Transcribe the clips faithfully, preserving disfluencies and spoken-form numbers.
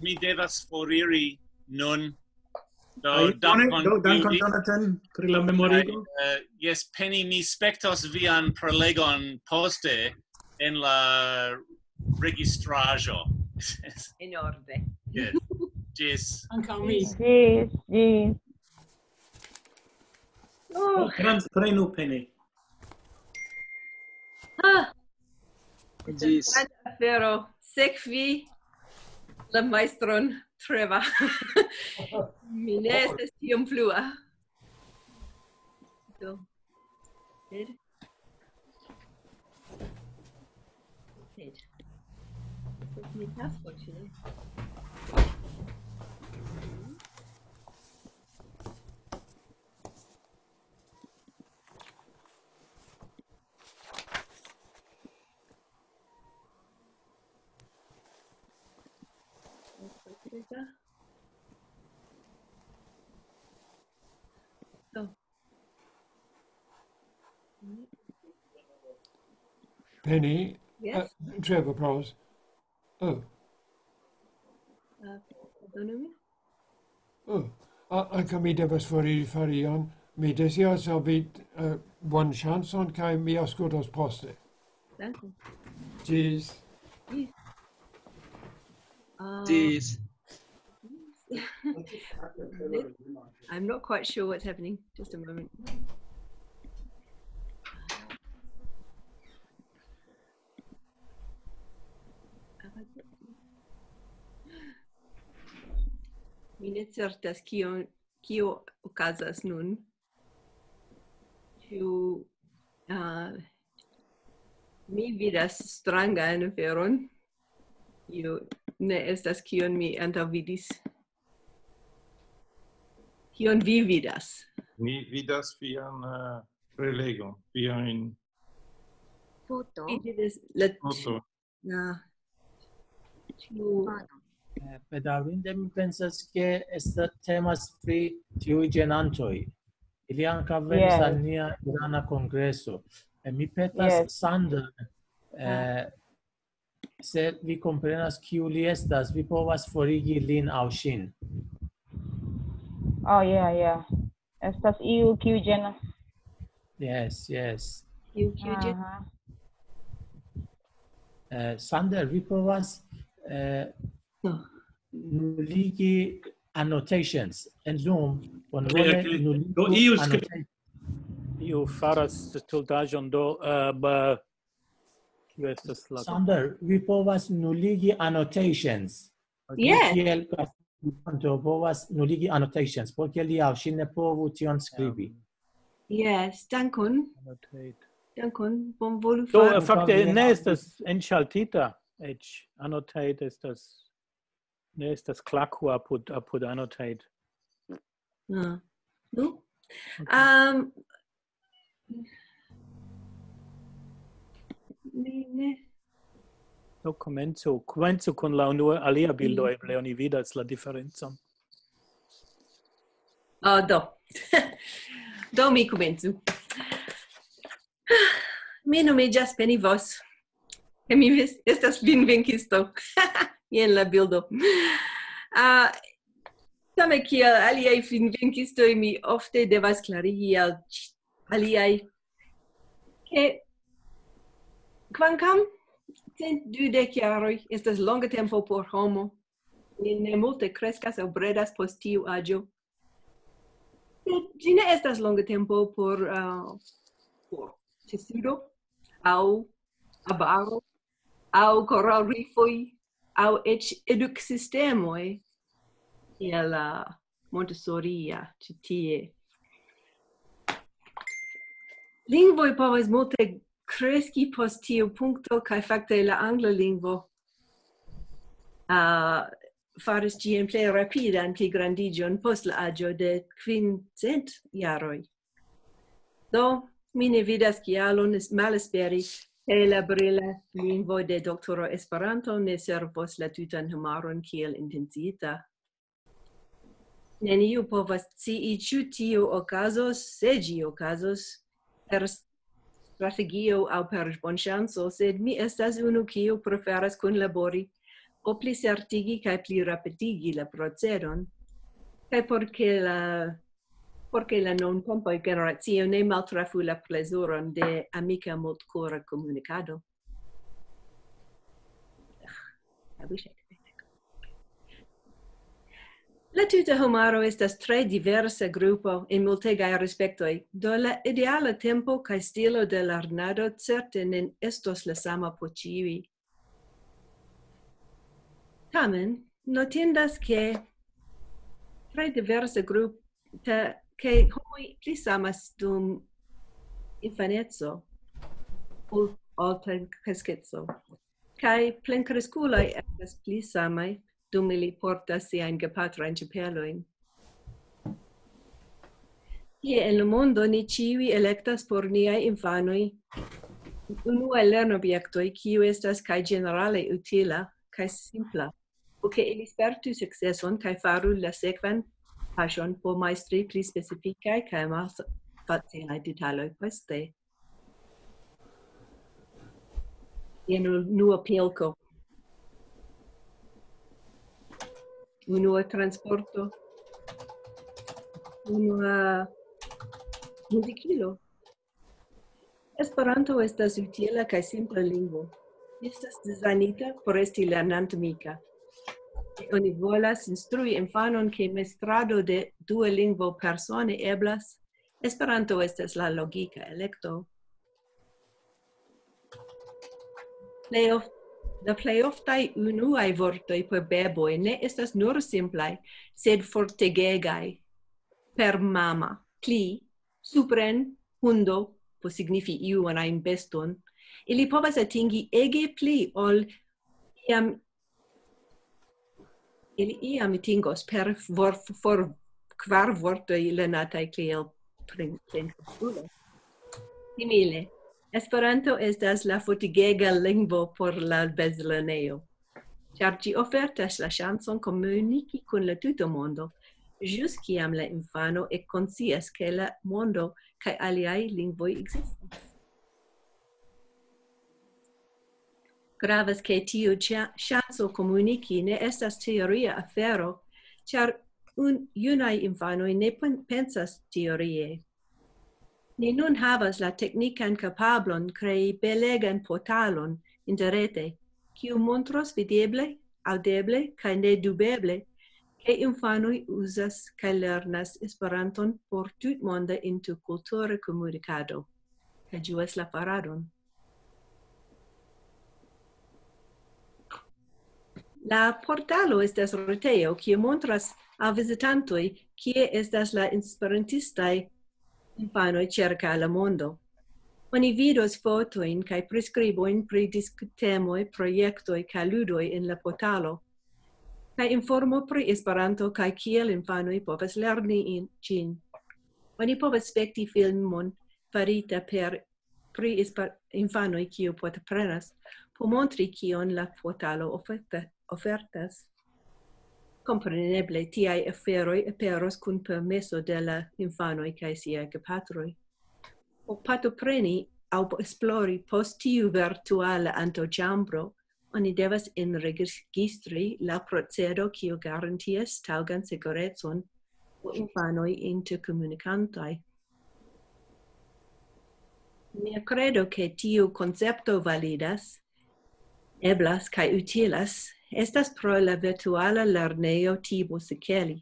Mi devas foriri nun. Do, Ai, bone, dankon, do, dankon, Julie. Jonathan, pri la memorigo. Kaj, eh, jes, Penny, mi spektos vian prelegon poste en la registraĵo. En orde. Yes. Ĝis. Ankaŭ mi. Ĝis, ĝis. Oh, Trans-, prenu, Penny. ah, Ĝis. Granda afero. Sekvi la majstron Trevor. Mi ne estas tiom flua. Do. Sed. Sed. Sed mi tasko, ĉu ne? Penny, Yes. uh, Trevor provas. Oh, Uh, pardonu min? Oh, a- ankaŭ mi devas foriri fari ion. Mi deziras al vi, uh, bonan ŝancon, kaj mi aŭskultos poste. Dankon. Ĝis. Uh, Ĝis. I'm not quite sure what's happening. Just a moment. Mi ne certas kio, kio okazas nun. Ĉu, uh, mi vidas strangan aferon? Io ne estas kion mi antaŭvidis. Kion vi vidas? Mi vidas vian, eh, prelegon, viajn Foto. Vi vidas la, foto. la, ĉu Eh, Bedaŭrinde mi pensas, ke esta-, temas pri tiuj ĝenantoj. Ili ankaŭ venis Yes. al nia Irana kongreso. Eh, Mi petas Yes. Sander, eh, se vi komprenas, kiu li estas, vi povas forigi lin aŭ ŝin. Oh, yeah, yeah. Estas iu kiu ĝenas. Yes, yes. Kiu, kiu ĝi- Aha. Eh, Sander, vi povas, eh, No. nuligi annotations en Zoom. Bonvole Bele, ke nuligu do iu skri- annotations. Iu faras stultaĵon, do, eh, ba, kio estas la... Sander, vi povas nuligi annotations. Yes. Kiel participanto povas nuligi annotations, por ke li aŭ ŝi ne povu tion skribi. Yes, dankon. Annotate. Dankon, bonvolu Do, fari. eh, fakte ne estas enŝaltita eĉ. Annotate estas, ne estas klako apud, apud annotate. Ah. Nu? Um, mi ne. Do komencu, komencu kun la unua, alia bildo, eble oni vidas la diferencon. Oh, do. Do mi komencu. Mi nomiĝas Penny Voss. Kaj mi ves-, estas finvenkisto. Jen la bildo. Ah, same kiel aliaj finvenkistoj, mi ofte devas klarigi al ĉ-, aliaj, ke kvankam cent dudek jaroj estas longa tempo por homo, ni ne multe kreskas aŭ bredas post tiu aĝo. Sed ĝi ne estas longa tempo por, ah, por ĉesudo aŭ abaro aŭ koralrifoj aŭ eĉ eduksistemoj kiel la Montessoria ĉi tie. Lingvoj povas multe kreski post tiu punkto, kaj fakte la angla lingvo, ah, faris ĝian plej rapidan pligrandiĝon post la aĝo de quince jaroj. Do, mi ne vidas kialon es-, malesperi, ke la brila lingvo de doktoro Esperanto ne servos la tutan homaron kiel intencita. Neniu povas scii, ĉu tio okazos, se ĝi okazos, per strategio aŭ per bonŝanco, sed mi estas unu, kiu preferas kunlabori o pli certigi kaj pli rapidigi la procedon, kaj por ke la, por ke la nuntempa generacio ne maltrafu la plezuron de amika multkora komunikado. I wish I could make that. La tuta homaro estas tre diversa grupo en multegaj respektoj, do la ideala tempo kaj stilo de lernado certe ne estos la sama por ĉiuj. Tamen, notindas, ke tre diversa grupo, ke homoj pli samas dum infaneco ol ol plenkreskeco. Kaj plenkreskuloj estas pli samaj dum ili portas siajn gepatrajn ĉapelojn. Tie en la mondo ni ĉiuj elektas por niaj infanoj unuaj lernobjektoj, kiu estas kaj ĝenerale utila kaj simpla, por ke ili spertu sukceson kaj faru la sekvan paŝon por majstri pli specifikaj kaj malfacilaj detaloj poste. Jen unua pilko. Unua transporto. Unua muzikilo. Esperanto estas utila kaj simpla lingvo. Ĝi estas dizajnita por esti lernantmika. Se oni volas instrui infanon, ke mestrado de dua lingvo persone eblas, Esperanto estas la logika elekto. Plej of-, la plej oftaj unuaj vortoj por beboj ne estas nur simplaj, sed fortegegaj. Per mama, pli, supren, hundo, por signifi iun ajn beston. Ili povas atingi ege pli ol iam ili iam atingos per vor-, for kvar vortoj lernataj kiel plenkreskulo. Simile, Esperanto estas la fortigega lingvo por la bezlernejo, ĉar ĝi ofertas la ŝancon komuniki kun la tuta mondo, ĵus kiam la infano ekkonscias, ke la mondo kaj aliaj lingvoj ekzistas. Gravas, ke tiu ĉa-, ŝanco komuniki ne estas teoria afero, ĉar un-, junaj infanoj ne pen-, pensas teorie. Ni nun havas la teknikan kapablon krei belegan portalon interrete, kiu montros videble, aŭdeble kaj nedubeble, ke infanoj uzas kaj lernas Esperanton por tutmonda interkultura komunikado, kaj ĝuas la faradon. La portalo estas retejo, kiu montras al vizitantoj, kie estas la esperantistaj infanoj ĉirkaŭ la mondo. Oni vidos fotojn kaj priskribojn pri diskutemoj, projektoj kaj ludoj en la portalo, kaj informo pri Esperanto kaj kiel infanoj povas lerni in-, ĝin. Oni povas spekti filmon farita per pri esper-, infanoj, kiu partoprenas, por montri, kion la portalo oferta-, ofertas. Kompreneble, tiaj aferoj aperos kun permeso de la infanoj kaj siaj gepatroj. Por partopreni aŭ esplori post tiu virtuala antaŭĉambro, oni devas enregistri la procedo, kiu garantias taŭgan sekurecon por infanoj interkomunikantaj. Mia kredo, ke tiu koncepto validas, eblas kaj utilas, estas pro la virtuala lernejo Tibo Sekeli,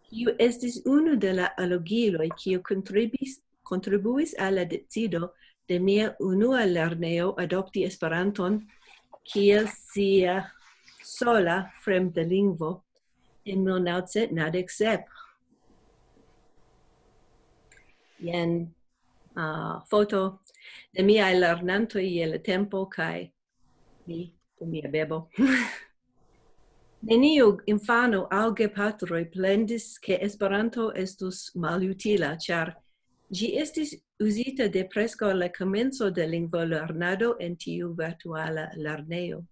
kiu estis unu de la alogiloj, kiu kontribis-, kontribuis al la decido de mia unua lernejo adopti Esperanton kiel sia sola fremda lingvo en mil naŭcent naŭdek sep. Jen, ah, foto de miaj lernantoj je la tempo kaj mi kun mia bebo. Neniu infano aŭ gepatroj plendis, ke Esperanto estus malutila, ĉar ĝi estis uzita de preskaŭ la komenco de lingvolernado en tiu virtuala lernejo.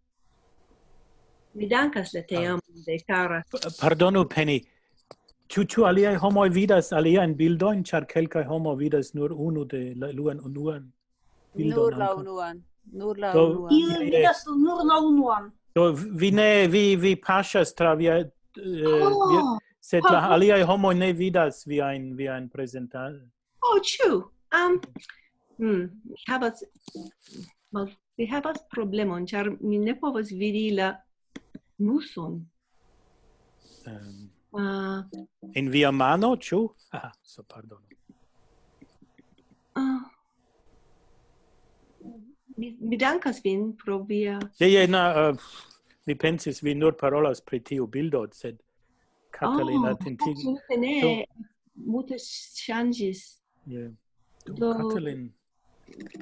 Mi dankas la teamon de kara. P-, pardonu, Penny. Ĉu, ĉu aliaj homoj vidas aliajn bildojn, ĉar kelkaj homoj vidas nur unu de la, la unuan bildon Nur la ankaŭ. Unuan. Nur la Do, unuan. Ili vidas nur la unuan. Do, vi ne, vi, vi paŝas tra via, eh, via, Oh, sed la oh. Aliaj homoj ne vidas viajn, viajn prezentaĵojn. Oh, true. Um, hmm, mi havas, mal, mi havas problemon, ĉar mi ne povas vidi la muson. Ehm, Uh, en via mano, ĉu? Ah, so, pardonu. uh, mi, mi dankas vin pro via... Je, je, na, eh, mi pensis, vi nur parolas pri tiu bildo, sed Katalin Oh, atentigi. Absolute ne, multe ŝanĝis. Je. Do, Do- Katalin,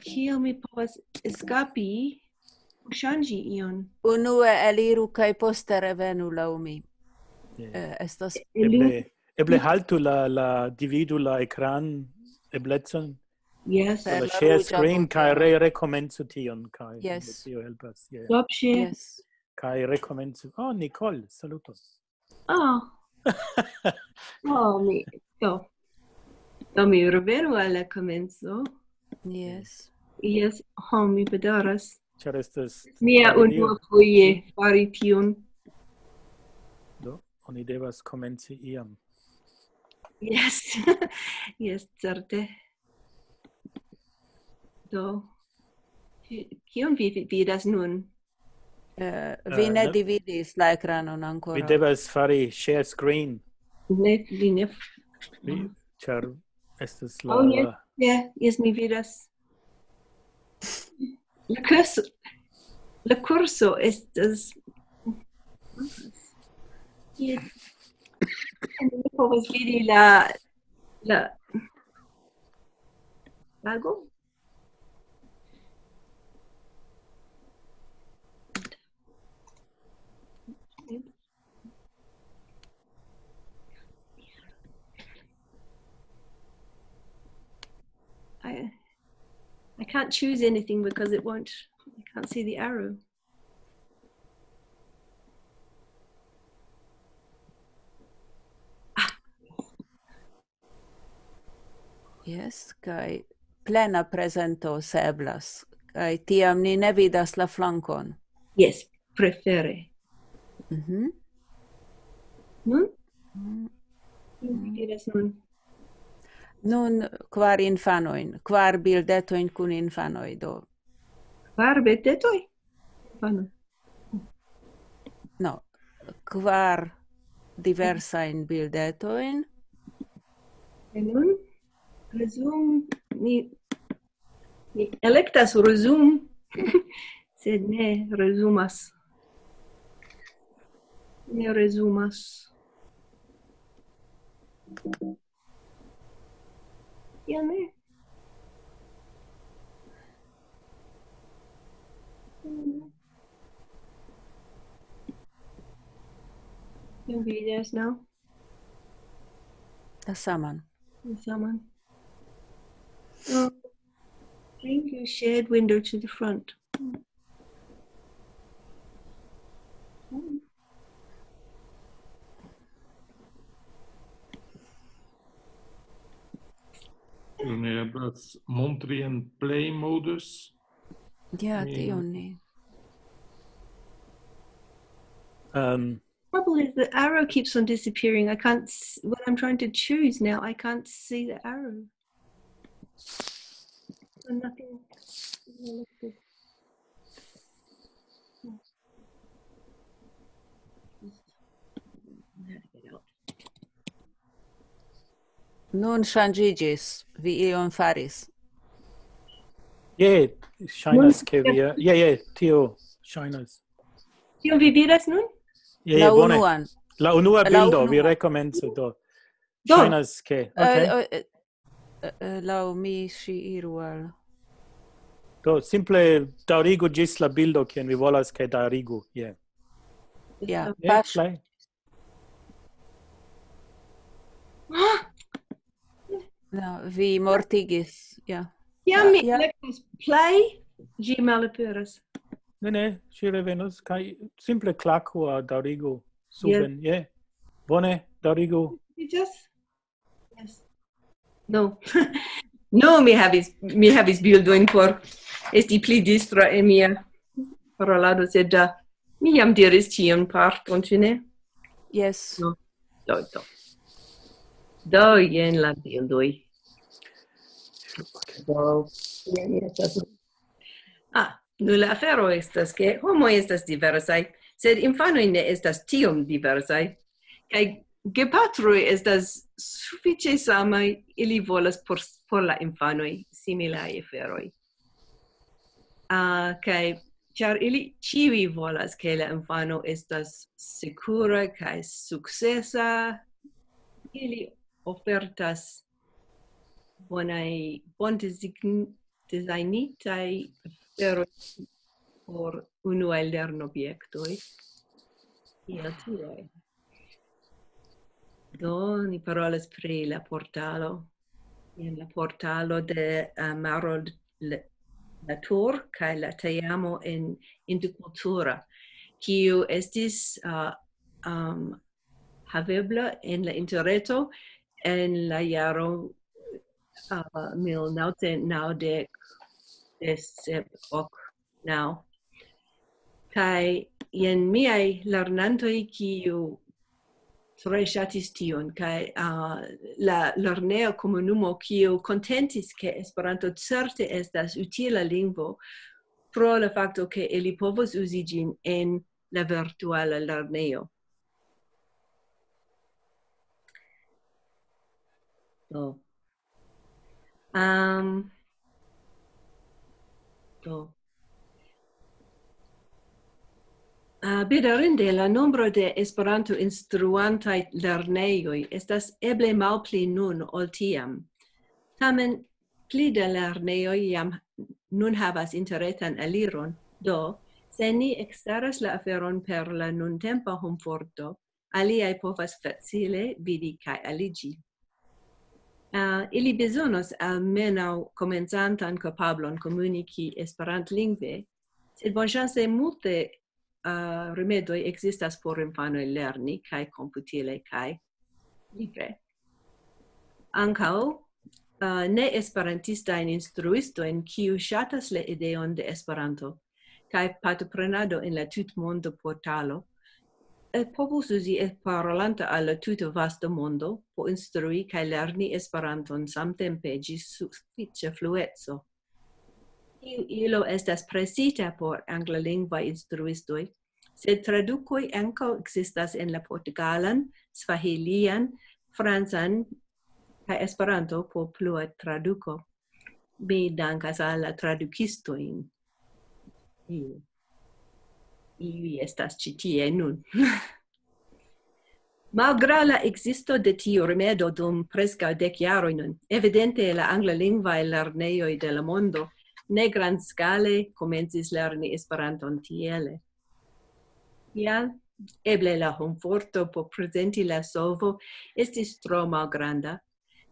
Kiel mi povas eskapi, ŝanĝi ion? Unue eliru kaj poste revenu laŭ mi. je. Eh, estas Eble, eble haltu la, la, dividu la ekran eblecon, Yes. Per la la share ruĝa screen, buteno. Kaj re, rekomencu tion, kaj Yes. Tio helpas. Je. Stop share. Yes. Kaj rekomencu. Oh, Nicole, saluton. Oh. Oh, mi, do. Do mi revenu al la komenco. Yes. Yes, oh, mi bedaŭras. Ĉar estas Mia tragedio. Unua foje fari tion. Do, oni devas komenci iam. Yes. Yes, certe. Do. Ki-, kion vi vi- vidas nun? Eh, vi ne Eh, dividis la ekranon ankoraŭ. Vi devas fari share screen, Ne, vi ne. vi, ĉar estas la, Oh, yes. la Yeah, yes, mi vidas. La kurso, la kurso estas... Yes. Mi ne povas vidi la, la lago. I, I can't choose anything because it won't, I can't see the arrow. Yes, kaj plena prezento se eblas. Kaj tiam ni ne vidas la flankon. Yes, prefere. Mhm. Nun? Mm. Nun vi diras nun. Nun kvar infanojn, kvar bildetojn kun infanoj, do. Kvar bildetojn? Vano. No, kvar diversajn bildetojn. Kaj nun? Resume, mi, mi elektas resume, sed ne resumas. Ne resumas. Ja, ne. Can be, there's now. La saman. Someone. Oh, bring your shared window to the front. Ĉu ne eblas montri en play modus? Ja, Mi- tion ni. Um, Trouble is the arrow keeps on disappearing. I can't, s- when I'm trying to choose now, I can't see the arrow. So nothing. Nun ŝanĝiĝis, vi ion faris. Je, ŝajnas ke vi, je, je, tio ŝajnas. Kion vi vidas nun? Je, La je, bone. Unuan. La unua La bildo, unua. Vi rekomencu do. Do. Ŝajnas ke, Eh, okay. eh, eh, eh, Laŭ mi ŝi iru al. Do, simple daŭrigu ĝis la bildo, kion vi volas ke daŭrigu. Je. Ja, Je, paŝ. Play. No, vi mortigis, ja. Kiam mi Ja. elektas play, ĝi malaperas. Ne, ne, ŝi revenos kaj simple klaku a daŭrigu suben. Je. Bone, daŭrigu. Yes. Yes. No. No, mi havis, mi havis bildojn por esti pli distra en mia parolado, sed uh, Mi jam diris tiun parton, ĉu ne? Yes. No. Do, do. Do, jen la bildoj. Do, jen estas. Ah, nu la afero estas, ke homoj estas diversaj, sed infanoj ne estas tiom diversaj. Kaj gepatroj estas sufiĉe samaj, ili volas por, por la infanoj similaj aferoj. Ah, kaj ĉar ili ĉiuj volas, ke la infano estas sekura kaj sukcesa, ili ofertas bonaj, bondezign-, dezajnitaj aferoj por unuaj lernobjektoj. Kiel tiaj. Do, ni parolas pri la portalo. En la portalo de, eh, Maro l-, la Tour kaj la teamo en interkultura, kiu estis, eh, um, havebla en la interreto en la jaro, eh, mil naŭcent naŭdek, sep, ok, naŭ. Kaj jen miaj lernantoj, kiu tre ŝatis tion, kaj, ah, la lerneja komunumo, kiu kontentis, ke Esperanto certe estas utila lingvo, pro la fakto, ke ili povos uzi ĝin en la virtuala lernejo. Do. Am, do. Ah, bedaŭrinde, la nombro de Esperanto-instruantaj lernejoj estas eble malpli nun ol tiam. Tamen, pli da lernejoj jam nun havas interretan aliron, do, se ni ekstaras la aferon per la nuntempa homforto, aliaj povas facile vidi kaj aliĝi. Ah, ili bezonos almenaŭ komencantan kapablon komuniki esperantlingve, sed bonŝance multe, ah, rimedoj ekzistas por infanoj lerni kaj komputile kaj libre. Ankaŭ, ah, ne-esperantistajn instruistojn, kiu ŝatas la ideon de Esperanto kaj partoprenado en la tutmonda portalo, eh, povus uzi, eh, parolanta al la tuta vasta mondo, por instrui kaj lerni Esperanton samtempe ĝis sufiĉa flueco. Tiu ilo estas presita por anglalingvaj instruistoj, sed tradukoj ankaŭ ekzistas en la portugalan, svahilian, francan kaj Esperanto por plua traduko. Mi dankas al la tradukistojn. Iu. Iuj estas ĉi tie nun. Malgraŭ la ekzisto de tiu rimedo dum preskaŭ dek jaroj nun, evidente la anglalingvaj lernejoj de la mondo ne grandskale komencis lerni Esperanton tiele. Kial? Eble la homforto por prezenti la solvo estis tro malgranda,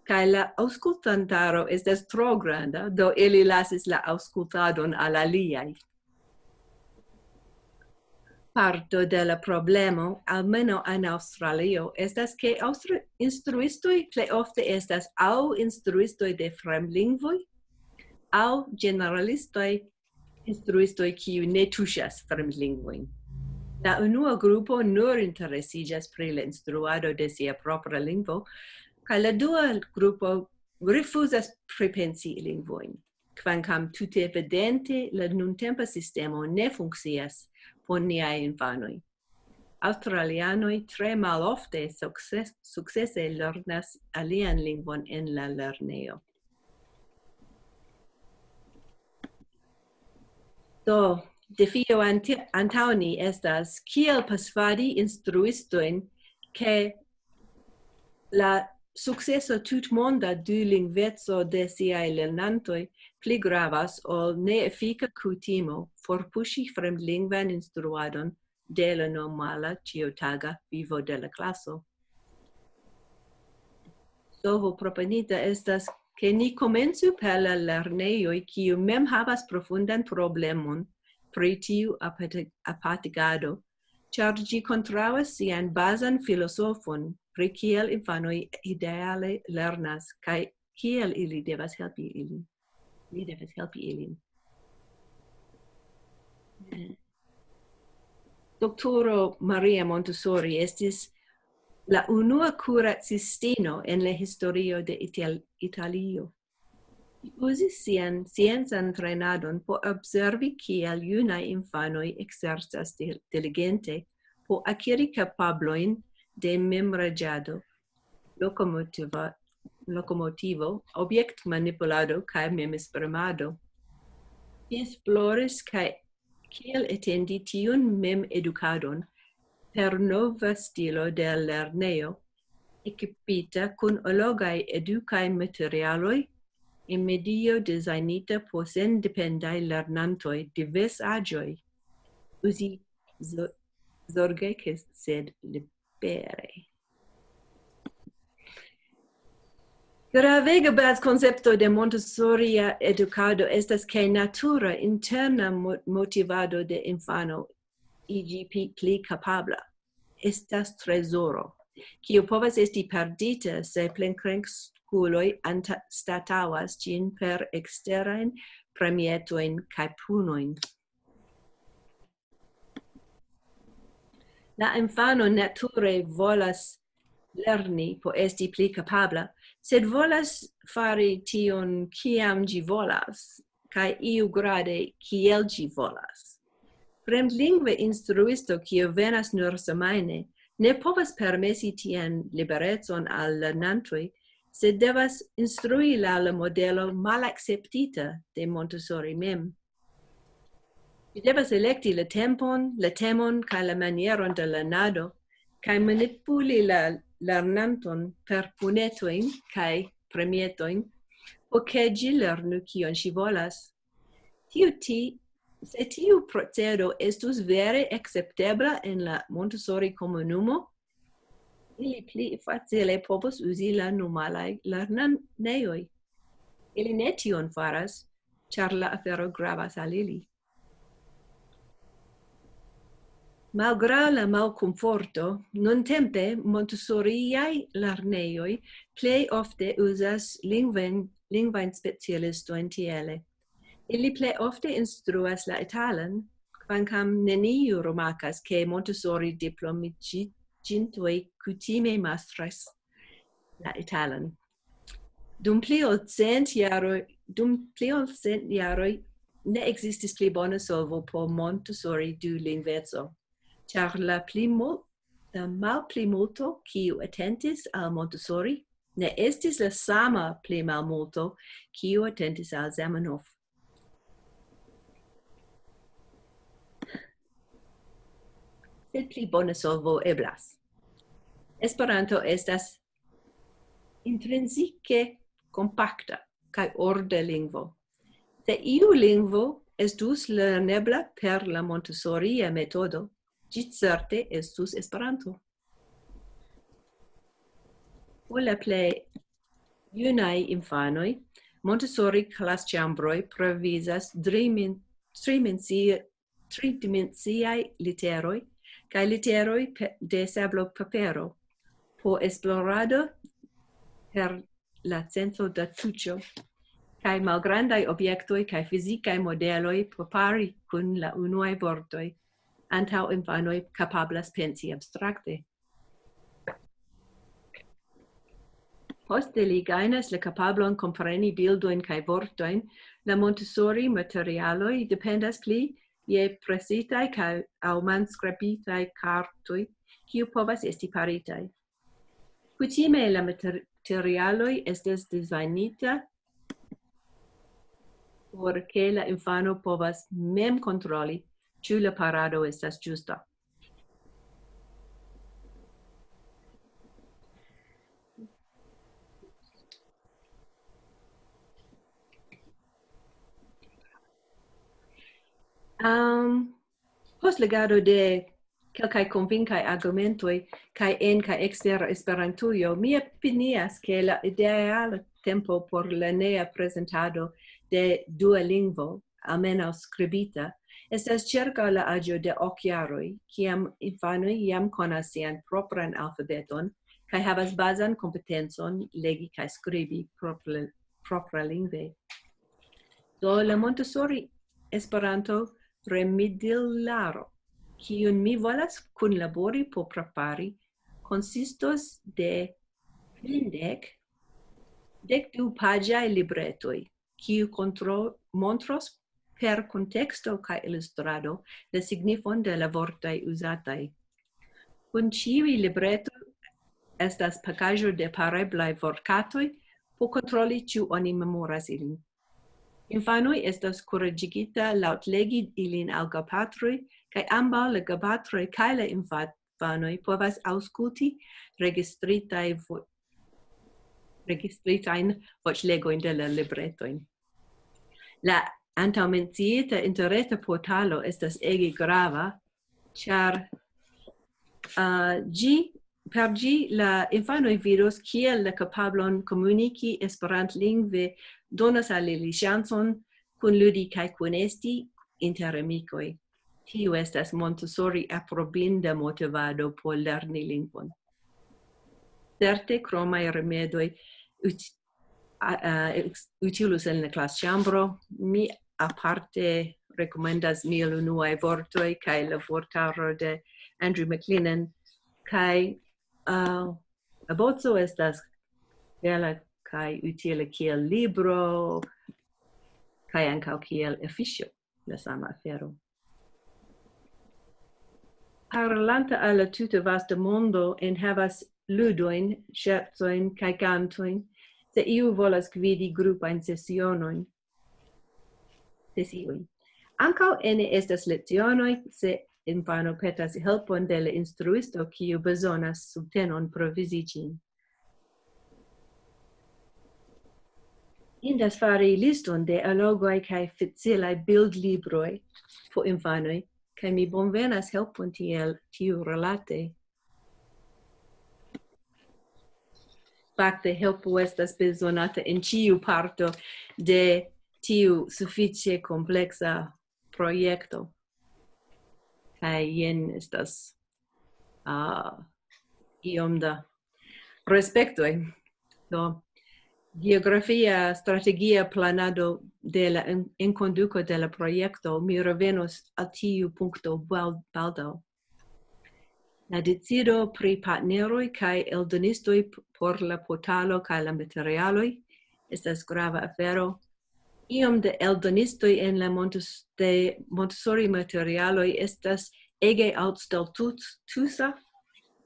kaj la aŭskultantaro estas tro granda, do ili lasis la aŭskultadon al aliaj. Parto de la problemo, almenaŭ en Aŭstralio, estas, ke aŭstri-, instruistoj plej ofte estas aŭ instruistoj de fremdlingvoj, aŭ ĝeneralistoj, instruistoj, kiuj ne tuŝas fremdlingvojn. La unua grupo nur interesiĝas pri la instruado de sia propra lingvo, kaj la dua grupo rifuzas pripensi lingvojn, kvankam tute evidente la nuntempa sistemo ne funkcias por niaj infanoj. Aŭstralianoj tre malofte sukces-, sukcese lernas alian lingvon en la lernejo. Do, defio ante-, antaŭ ni estas, kiel persvadi instruistojn, ke la sukceso tutmonda dulingveco de siaj lernantoj pli gravas ol neefika kutimo forpuŝi fremdlingvan instruadon de la normala ĉiutaga vivo de la klaso. Solvo proponita estas, ke ni komencu per la lernejoj, kiu mem havas profundan problemon pri tiu apati-, apatigado, ĉar ĝi kontraŭas sian bazan filozofon pri kiel infanoj ideale lernas kaj kiel ili devas helpi ilin. Ni devas helpi ilin. Doktoro Maria Montessori estis la unua kuracistino en la historio de Ital-, Italio. Li uzis sian sciencan trejnadon por observi, kiel junaj infanoj ekzercas dil-, diligente por akiri kapablojn de memreĝado, lokomotiva-, lokomotivo, objektmanipulado kaj memesprimado. Li esploris kaj kiel etendi tiun memedukadon per nova stilo de lernejo, ekipita kun allogaj edukaj materialoj, en medio designita por sendependaj lernantoj de diversaĵoj. Uzi zo-, zorge, ke sed libere. Gravega bazkoncepto de Montessoria edukado estas, ke natura interna mo-, motivado de infano iĝi pli, pli kapabla estas trezoro, kiu povas esti perdita se plenkreskuloj anstataŭas ĝin per eksterajn premietojn kaj punojn. La infano nature volas lerni por esti pli kapabla, sed volas fari tion, kiam ĝi volas, kaj iugrade, kiel ĝi volas. Fremdlingve instruisto, kiu venas nur semajne, ne povas permesi tian liberecon al lernantoj, sed devas instrui laŭ la modelo malakceptita de Montessori mem. Vi devas elekti la tempon, la temon kaj la manieron de lernado, kaj manipuli la lernanton per punetojn kaj premietojn, por ke ĝi lernu, kion ŝi volas. Tiu ti-, se tiu procedo estus vere akceptebla en la Montessori komunumo, ili pli facile povos uzi la normalaj lernejoj. Ili ne tion faras, ĉar la afero gravas al ili. Malgraŭ la malkomforto, nuntempe Montessoriaj lernejoj plej ofte uzas lingvojn, lingvajn specialistojn tiele. Ili plej ofte instruas la italan, kvankam neniu rimarkas, ke Montessori diplomiĝintoj kutime mastras la italan. Dum pli ol cent jaroj, dum pli ol cent jaroj ne ekzistis pli bona solvo por Montessori dulingveco, ĉar la pli mul-, la malplimulto, kiu atentis al Montessori, ne estis la sama pli malmulto, kiu atentis al Zamenhof. Sed pli bona solvo eblas. Esperanto estas intrinzike kompakta kaj orda lingvo. Se iu lingvo estus lernebla per la Montessoria metodo, ĝi certe estus Esperanto. Por la plej junaj infanoj, Montessori klasĉambroj provizas trimen-, trimensi-, tridimensiaj literoj kaj literoj pe-, de sablo papero por esplorado per la senso da tuĉo, kaj malgrandaj objektoj kaj fizikaj modeloj por pari kun la unuaj vortoj, antaŭ infanoj kapablas pensi abstrakte. Poste li gajnas la kapablon kompreni bildojn kaj vortojn, la Montessori materialoj dependas pli je presitaj kaj aŭ manskribitaj kartoj, kiu povas esti paritaj. Kutime la materialoj estas dizajnita por ke la infano povas mem kontroli, ĉu la parado estas ĝusta. Um, post legado de kelkaj konvinkaj argumentoj kaj en kaj ekster Esperantujo, mi opinias, ke la ideala tempo por lernea prezentado de dua lingvo, almenaŭ skribita, estas ĉirkaŭ la aĝo de ok jaroj, kiam infanoj jam konas sian propran alfabeton kaj havas bazan kompetencon legi kaj skribi propra-, propralingve. Do la Montessori Esperanto remedilaro kiun mi volas kunlabori por prepari, konsistos de kvindek dekdu paĝaj libretoj, kiu kontro-, montros per konteksto kaj ilustrado la signifon de la vortoj uzataj. Kun ĉiuj libretoj estas pakaĵo de pareblaj vortkatoj por kontroli, ĉu oni memoras ilin. Infanoj estas kuraĝigita laŭtlegi ilin al gepatroj, kaj ambaŭ la gepatroj kaj la infanoj povas aŭskulti registritaj vo-, registritajn voĉlegojn de la libretojn. La antaŭmenciita interreta portalo estas ege grava, ĉar, ah, ĝi, per ĝi la infanoj vidos, kiel la kapablon komuniki esperantlingve donas al ili ŝancon kunludi kaj kunesti inter amikoj. Tio estas Montessori aprobinda motivado por lerni lingvon. Certe, kromaj rimedoj ut-, a, a, ex-, utilus en la klasĉambro. Mi aparte rekomendas Mil unuaj vortoj kaj la vortaro de Andrew McLennan, kaj, ah, la boco estas bela kaj utila kiel libro, kaj ankaŭ kiel afiŝo, la sama afero. Parolanta al la tuta vasta mondo enhavas ludojn, ŝercojn kaj kantojn, se iu volas gvidi grupajn sesionojn, sesiojn. Ankaŭ ene estas lecionoj, se infano petas helpon de la instruisto, kiu bezonas subtenon provizi ĝin. Indas fari liston de alogoj kaj facilaj bildlibroj por infanoj, kaj mi bonvenas helpon tiel tiu relate. Fakte, helpo estas bezonata en ĉiu parto de tiu sufiĉe kompleksa projekto. Kaj jen estas, ah, iom da respektoj. Do, geografia strategia planado de la en-, enkonduko de la projekto, mi revenos al tiu punkto bal-, baldaŭ. La decido pri partneroj kaj eldonistoj p-, por la portalo kaj la materialoj estas grava afero. Iom de eldonistoj en la Montes-, de Montessori materialoj estas ege altstatusa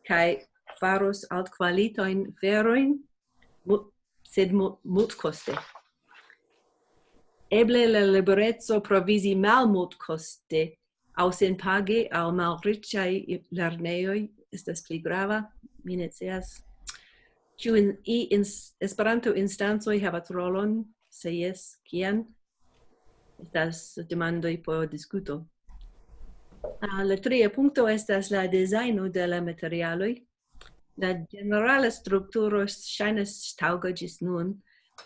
kaj faros altkvalitajn aferojn, mu-, sed mu-, multkoste. Eble la libereco provizi malmultkoste aŭ senpage al malriĉaj i-, lernejoj estas pli grava, mi ne scias. Ĉu in-, i-, ins-, Esperanto-instancoj havas rolon? Se jes, kian? Estas demandoj por diskuto. Ah, la tria punkto estas la dezajno de la materialoj. La ĝenerala strukturo ŝajnas taŭga ĝis nun,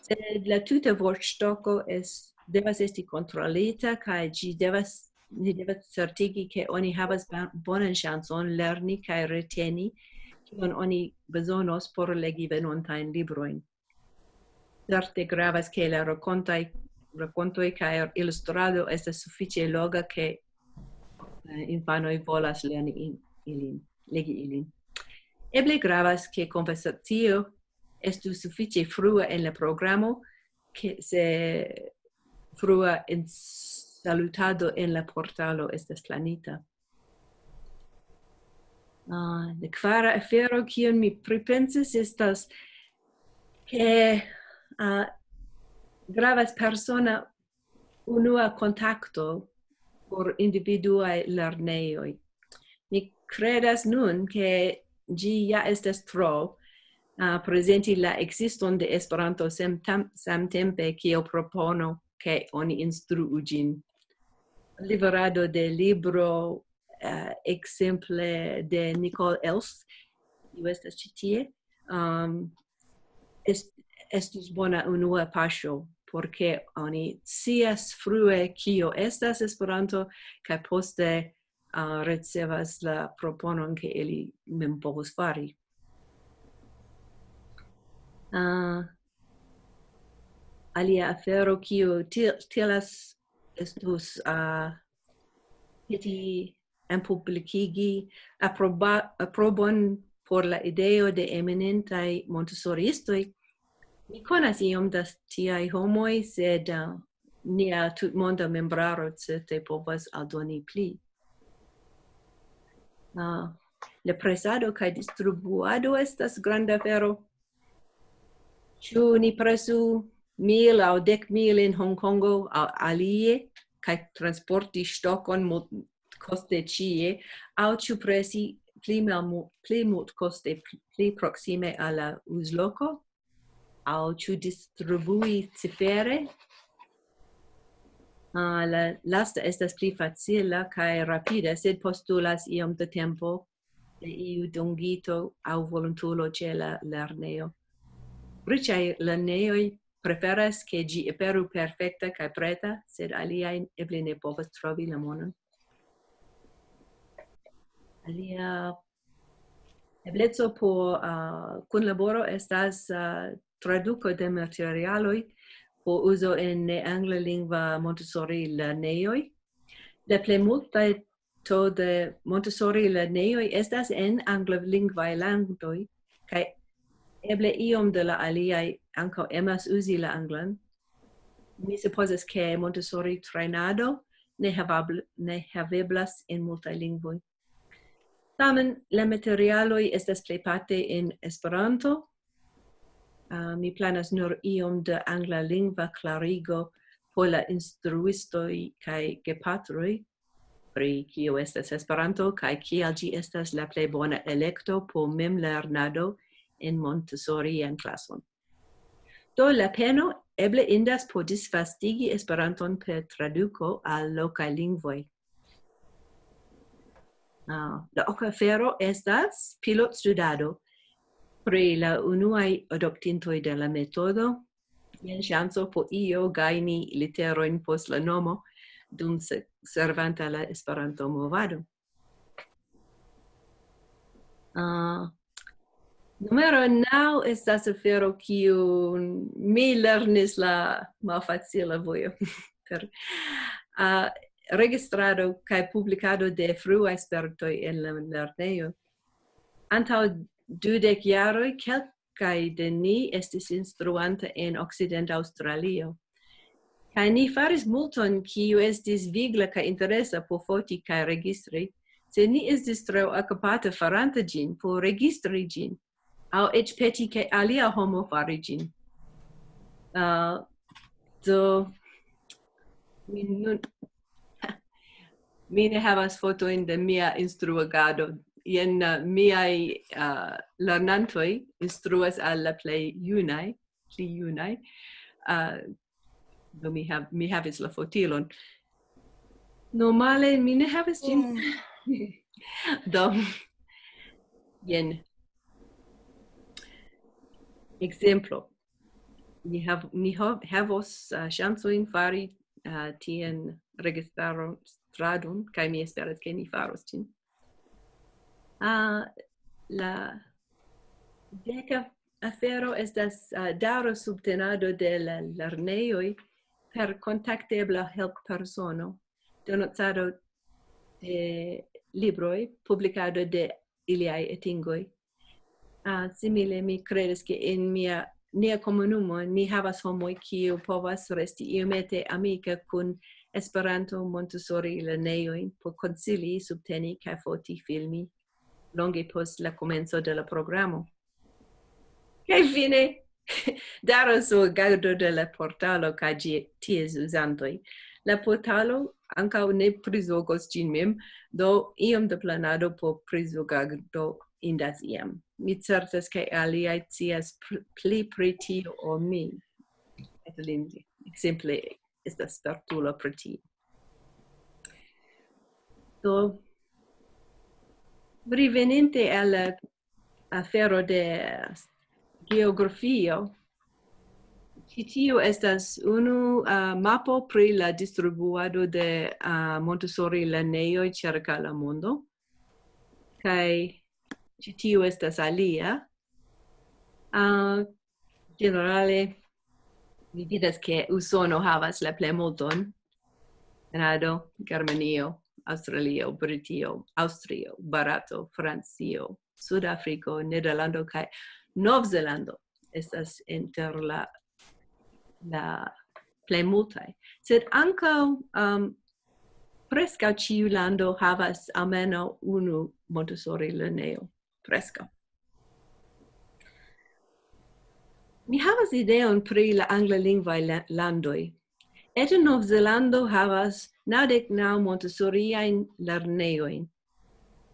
sed la tuta vortstoko es-, devas esti kontrolita, kaj ĝi devas, ni devas certigi, ke oni havas ba-, bonan ŝancon lerni kaj reteni, kion oni bezonos por legi venontajn librojn. Certe gravas, ke la rakontaj, rakontoj kaj ilustrado estas sufiĉe loga, ke, eh, infanoj volas lerni in-, ilin, legi ilin. Eble gravas, ke konversacio estu sufiĉe frua en la programo, ke se frua en salutado en la portalo estas planita. Ah, la kvara afero, kion mi pripensis, estas, ke, ah, gravas persona unua kontakto por individuaj lernejoj. Mi kredas nun, ke ĝi ja estas tro, ah, prezenti la ekziston de Esperanto sem-, tam-, samtempe kiel propono, ke oni instruu ĝin. Liverado de libro, eh, ekzemple de Nicole Elst, kiu estas ĉi tie, um, est-, estus bona unua paŝo, por ke oni scias frue, kio estas Esperanto, kaj poste, ah, ricevas la proponon, ke ili mem povus fari. Ah, alia afero, kiu ti-, tilas estus, ah, peti-, enpublikigi aproba-, aprobon por la ideo de eminentaj Montessoriistoj. Mi konas iom da tiaj homoj, sed, uh, nia tutmonda membraro certe povas aldoni pli. Uh, la presado kaj distribuado estas granda afero. Ĉu ni presu mil aŭ dek mil en Hongkongo aŭ alie, kaj transporti ŝtokon mul-, koste ĉie, aŭ ĉu presi pli malmu-, pli multkoste pli, pli proksime al la uzloko, aŭ ĉu distribui cifere? Ah, la lasta estas pli facila kaj rapida, sed postulas iom da tempo de iu dungito aŭ volontulo ĉe la lernejo. Riĉaj lernejoj preferas, ke ĝi aperu perfekta kaj preta, sed aliaj eble ne povas trovi la monon. Alia ebleco por, ah, kunlaboro estas, ah, traduko de materialoj por uzo en neanglalingva Montessori lernejoj. La plejmulto de Montessori lernejoj estas en anglalingvaj landoj, kaj eble iom de la aliaj ankaŭ emas uzi la anglan. Mi supozas, ke Montessori trejnado ne havabl-, ne haveblas en multaj lingvoj. Tamen, la materialoj estas plejparte en Esperanto. Ah, mi planas nur iom de anglalingva klarigo por la instruistoj kaj gepatroj, pri kio estas Esperanto kaj kial ĝi estas la plej bona elekto por memlernado en Montessorian klason. Do la peno eble indas por disvastigi Esperanton per traduko al lokaj lingvoj. Ah, la oka afero estas pilotstudado pri la unuaj adoptintoj de la metodo. Jen ŝanco por io gajni literojn post la nomo dum se-, servanta la Esperanto-movado. Ah, numero naŭ estas afero, kiu mi lernis la malfacila vojo per, ah, registrado kaj publikado de fruaj spertoj en la lernejo. Antaŭ dudek jaroj kelkaj de ni estis instruanta en Okcidenta Aŭstralio. Kaj ni faris multon, kiu estis vigla kaj interesa por foti kaj registri, sed ni estis tro okupata faranta ĝin por registri ĝin, aŭ eĉ peti, ke alia homo fari ĝin. Ah, do, mi nun, mi ne havas fotojn de mia instruagado. Jen, ah, miaj, ah, lernantoj instruas al la plej junaj, pli junaj. Ah, do mi hav-, mi havis la fotilon. Normale mi ne havis ĝin. Mm. Do, jen. Ekzemplo. Ni hav-, ni hav-, havos, ah, ŝancojn fari, ah, tian registaron, stradon, kaj mi esperas, ke ni faros ĝin. Ah, la deka afero estas, ah, daŭra subtenado de la lernejoj per kontaktebla helppersono, donocado de libroj, publikado de iliaj atingoj. Ah, simile, mi kredas, ke en mia, nia komunumo ni havas homoj, kiu povas resti iomete amika kun Esperanto Montessori lernejojn por konsili, subteni kaj foti, filmi longe post la komenco de la programo. Kaj fine, daŭro sur agado de la portalo kaj ĝi-, ties uzantoj. La portalo ankaŭ ne prizorgos ĝin mem, do iom de planado por prizorgado indas iam. Mi certas, ke aliaj scias pr-, pli pri tio ol mi. Evelyn, ekzemple, estas spertulo pri tio. Do, reveninte al la afero de geografio, ĉi tiu estas unu, ah, mapo pri la distribuado de, ah, Montessori lernejoj ĉirkaŭ la mondo. Kaj ĉi tiu estas alia. Ah, ĝenerale, mi vidas, ke Usono havas la plejmulton. Kanado, Germanio, Aŭstralio, Britio, Aŭstrio, Barato, Francio, Sudafriko, Nederlando kaj Novzelando estas inter la, la plej multaj. Sed ankaŭ, um, preskaŭ ĉiu lando havas almenaŭ unu Montessori lernejo. Preskaŭ. Mi havas ideon pri la anglalingvaj la-, landoj. Eĉ Novzelando havas naŭdek naŭ Montessoriajn lernejojn,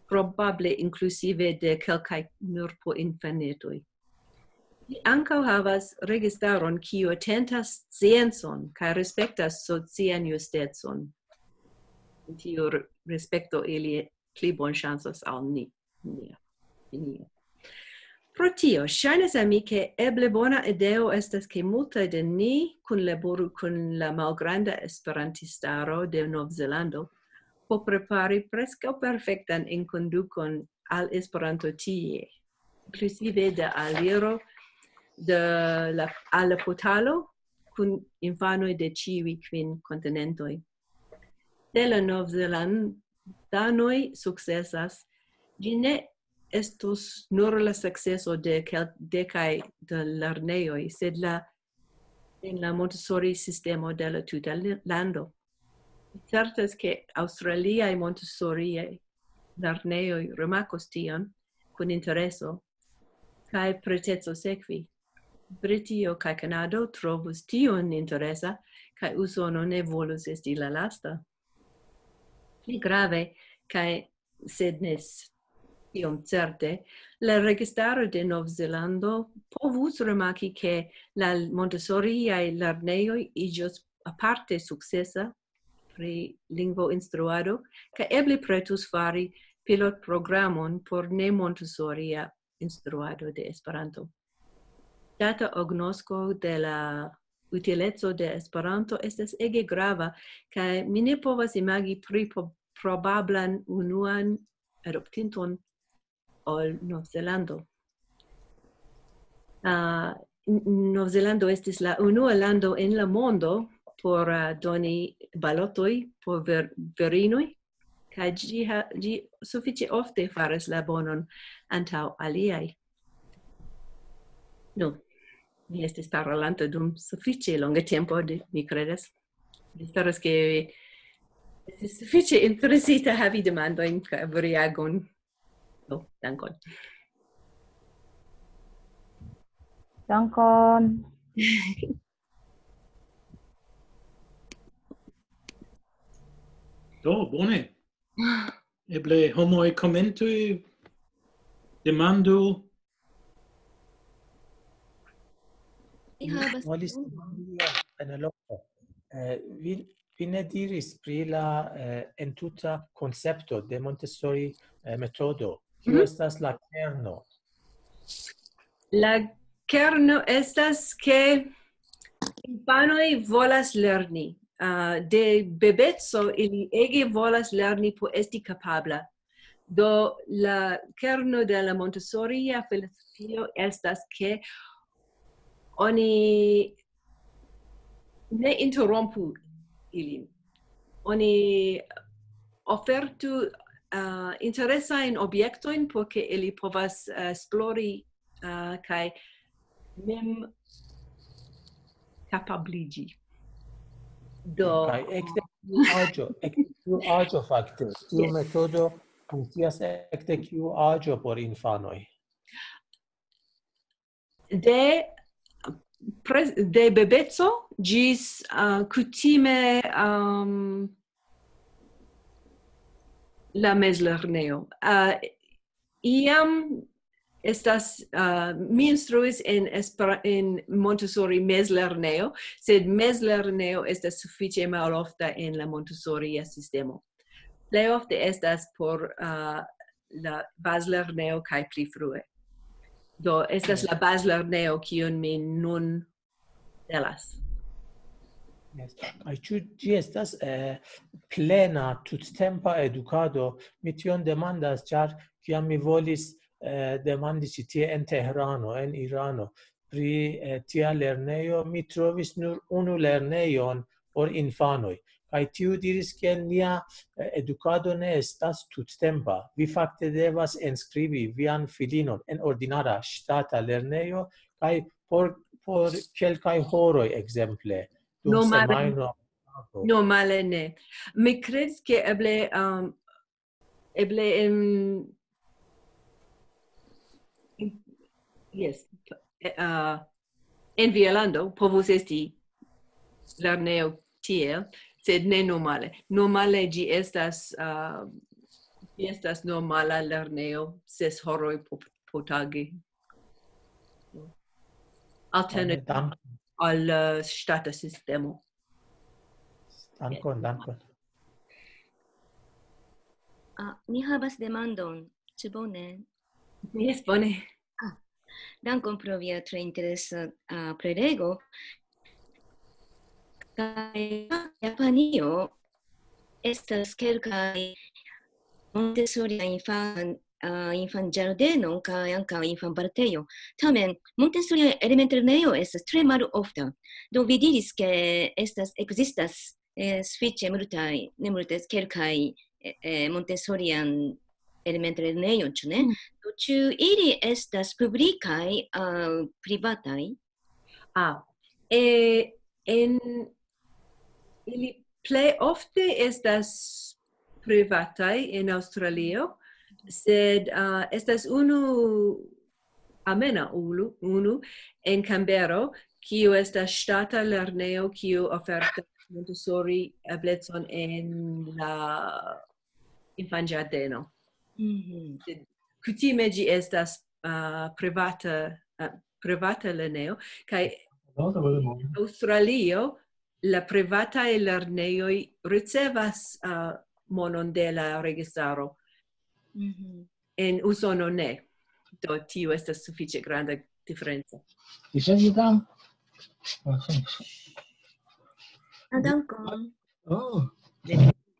probable inkluzive de kelkaj nur por infanetoj. Ĝi ankaŭ havas registaron, kiu atentas sciencon kaj respektas socian justecon. Tiu re-, respekto ili pli bonŝancas al ni. Nia. Nia. Pro tio, ŝajnas al mi, ke eble bona ideo estas, ke multaj de ni kunlaboru kun la malgranda esperantistaro de Novzelando por prepari preskaŭ perfektan enkondukon al Esperanto tie, inkluzive de aliro de la, al la portalo kun infanoj de ĉiuj kvin kontinentoj. Se la Novzelandanoj sukcesas, ĝi ne estos nur la sukceso de kel-, dekaj de lernejoj, sed la, en la Montessori sistemo de la tuta le-, lando. Mi certas, ke aŭstraliaj Montessoriaj lernejoj rimarkos tion kun intereso kaj preteco sekvi. Britio kaj Kanado trovus tion interesa, kaj Usono ne volus esti la lasta. Pli grave, kaj sed ne s-, tiom certe, la registaro de Novzelando povus rimarki, ke la Montessoriaj lernejoj iĝos aparte sukcesa pri lingvoinstruado, kaj eble pretus fari pilotprogramon por ne Montassoria instruado de Esperanto. Ŝtata agnosko de la utileco de Esperanto estas ege grava, kaj mi ne povas imagi pri po-, probablan unuan adoptinton ol Novzelando. Ah, N-, Novzelando estis la unua lando en la mondo por, ah, doni balotoj por ver-, virinoj, kaj ĝi ha-, ĝi sufiĉe ofte faras la bonon antaŭ aliaj. Nu, mi estis parolanta dum sufiĉe longa tempo, de-, mi kredas. Mi esperas, ke estis sufiĉe interesita havi demandojn kaj variagon. Nu, dankon. Dankon. Do, bone. Eble homoj komentu, demandu. Mi havas Volis demandi al Penelope. Eh, vi, vi ne diris pri la, eh, entuta koncepto de Montessori, eh, metodo. Kio Mhm. estas la kerno? La kerno estas, ke infanoj volas lerni. Ah, de bebeco ili ege volas lerni por esti kapabla. Do la kerno de la Montessoria filozofio estas, ke oni ne interrompu ilin. Oni ofertu, ah, interesajn objektojn por ke ili povas, ah, esplori, ah, kaj mem kapabliĝi. Do, Kaj ekde tiu aĝo, ekde tiu aĝo fakte, tiu Yes. metodo funkcias ekde kiu aĝo por infanoj? de, pre-, de bebeco ĝis, ah, kutime, am, la mezlernejo. Ah, iam estas, ah, mi instruis en Espera-, en Montessori mezlernejo, sed mezlernejo estas sufiĉe malofta en la Montessoria sistemo. Plej ofte estas por, ah, la bazlernejo kaj pli frue. Do estas la bazlernejo, kiun mi nun celas. Yes. Kaj ĉu ĝi estas, eh, plena tuttempa edukado? Mi tion demandas, ĉar kiam mi volis, eh, demandi ĉi tie en Tehrano, en Irano, pri, eh, tia lernejo, mi trovis nur unu lernejon por infanoj. Kaj tiu diris, ke nia, eh, edukado ne estas tuttempa. Vi fakte devas enskribi vian filinon en ordinara ŝtata lernejo, kaj por, por kelkaj horoj, ekzemple, dum Normale. semajno. Normale ne. Mi kredas, ke eble, um, eble en, en, yes, eh, uh, en Finnlando povus esti lernejo tiel, sed ne normale. Normale ĝi estas, uh, ĝi estas normala lernejo ses horoj po, po tage. Alternative Dank-, al, uh, ŝtata sistemo. Dankon, dankon. Ah, mi havas demandon. Ĉu bone? Yes, bone. Dankon pro via tre interesa, ah, prelego. Kaj Japanio estas kelkaj Montessori infan, ah, infanĝardeno kaj ankaŭ infanpartejo. Tamen, Montessori elementlernejo estas tre malofta. Do vi diris, ke estas, ekzistas, eh, sufiĉe multaj, ne multaj, kelkaj, eh, eh, Montessorian elementlernejoj, ĉu ne? Mm. Do ĉu ili estas publikaj aŭ privataj? Ah, eh, en, ili plej ofte estas privataj en Aŭstralio, sed, ah, estas unu, almenaŭ unu, unu en Canberra, kiu estas ŝtata lernejo, kiu ofertas Montessori eblecon en la infanĝardeno. Mhm. Kutime ĝi estas, ah, privata, ah, privata lernejo, kaj Aŭstralio la privataj lernejoj ricevas, ah, monon de la registaro. Mhm. En Usono ne. Do tio estas sufiĉe granda diferenco. Li sendis tam? Ah, dankon. Oh.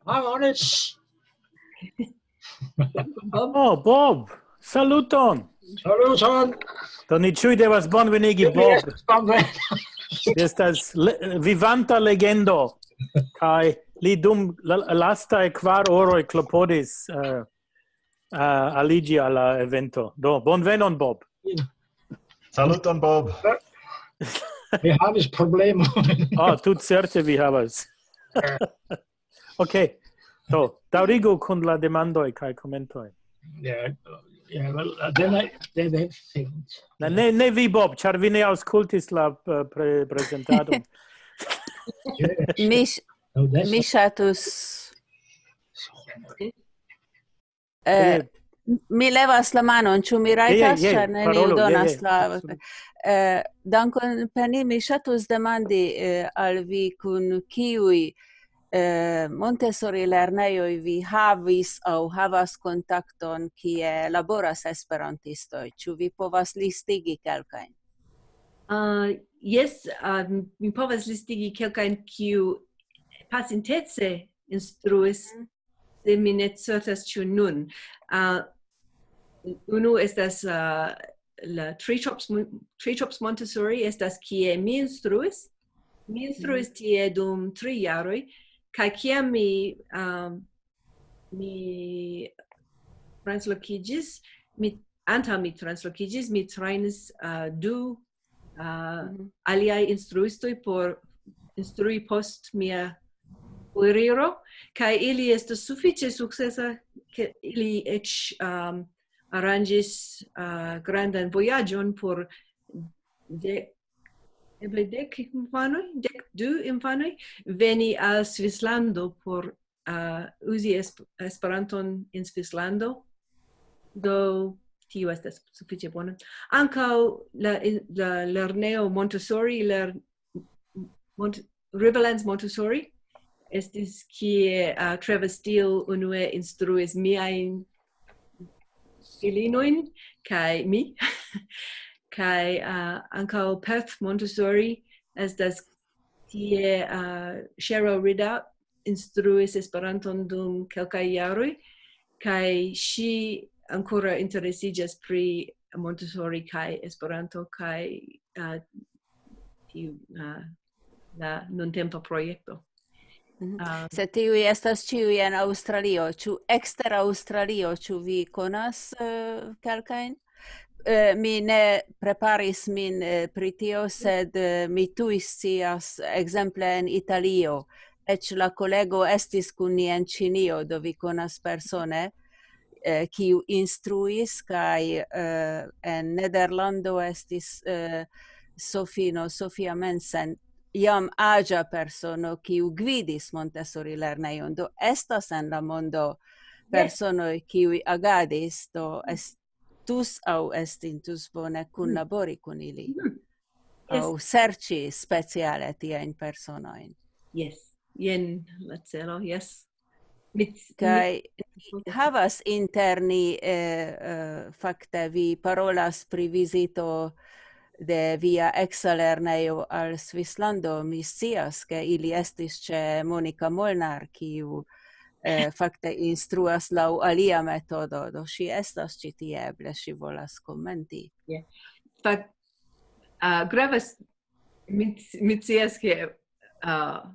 Ah, honest. Bob, Oh, Bob! Saluton! Saluton. Do ni ĉiuj devas bonvenigi Bob. Bonvena. Estas le, vivanta legendo. Kaj li dum la, lastaj kvar horoj klopodis, eh, eh, aliĝi al la evento. Do, bonvenon, Bob. Saluton, Bob. Mi havis problemo. Ah, tut certe vi havas. Ok. Do, daŭrigu kun la demandoj kaj komentoj. Yeah, yeah, well, uh, then I, then I think. Ne, ne, ne vi, Bob, ĉar vi ne aŭskultis la, eh, pre, prezentadon. Mi, sh- No, that's mi ŝatus. Eh, mi levas la manon, ĉu mi rajtas, Je, je, je, ĉar neniu parolu, je, donas je, la. absolute. Eh, dankon, Penny. Mi ŝatus demandi, eh, al vi, kun kiuj, eh, Montessori lernejoj vi havis aŭ havas kontakton, kie laboras esperantistoj. Ĉu vi povas listigi kelkajn? Ah, jes, ah, mi povas listigi kelkajn, kiu pasintece instruis, se mi ne certas, ĉu nun. Ah, unu estas, ah, la Treetops Mon-, Treetops Montessori estas kie mi instruis. Mi instruis tie dum tri jaroj, kaj kiam mi, ah, mi translokiĝis, mi, antaŭ mi translokiĝis, mi trejnis, ah, du, ah, Mhm. aliaj instruistoj por instrui post mia foriro, kaj ili estis sufiĉe sukcesa, ke ili eĉ, um, aranĝis, ah, grandan vojaĝon por de, eble dek infanoj, dek du infanoj, veni al Svislando por, ah, uzi esp-, Esperanton en Svislando. Do tio estas sufiĉe bona. Ankaŭ la, la lernejo Montessori, ler-, Mont-, Riverlands Montessori, estis kie, ah, Trevor Steele unue instruis miajn filinojn kaj mi. Kaj, ah, ankaŭ Perth Montessori estas tie, ah, Cheryl Ridout instruis Esperanton dum kelkaj jaroj, kaj ŝi ankoraŭ interesiĝas pri Montessori kaj Esperanto kaj, ah, tiu, ah, la nuntempa projekto. Se tiuj estas ĉiuj en Aŭstralio, ĉu ekster Aŭstralio, ĉu vi konas, eh, kelkajn? Eh, mi ne preparis min, eh, pri tio, sed, eh, mi tuj scias, ekzemple en Italio. Eĉ la kolego estis kun ni en Ĉinio, do vi konas persone, eh, kiu instruis, kaj, eh, en Nederlando estis, eh, Sofino, Sofia Mensen, jam aĝa persono, kiu gvidis Montessori lernejon. Do estas en la mondo personoj, kiuj agadis, do estus aŭ estintus bone kunlabori kun ili. Aŭ serĉi speciale tiajn personojn. Jes, jen la celo, jes. Mi, Kaj ni havas inter ni, eh, eh, fakte vi parolas pri vizito de via eksa lernejo al Svislando. Mi scias, ke ili estis ĉe Monika Molnar, kiu, eh, fakte instruas laŭ alia metodo. Do ŝi estas ĉi tie, eble ŝi volas komenti. Fakt, ah, gravas, mi, mi scias, ke, ah,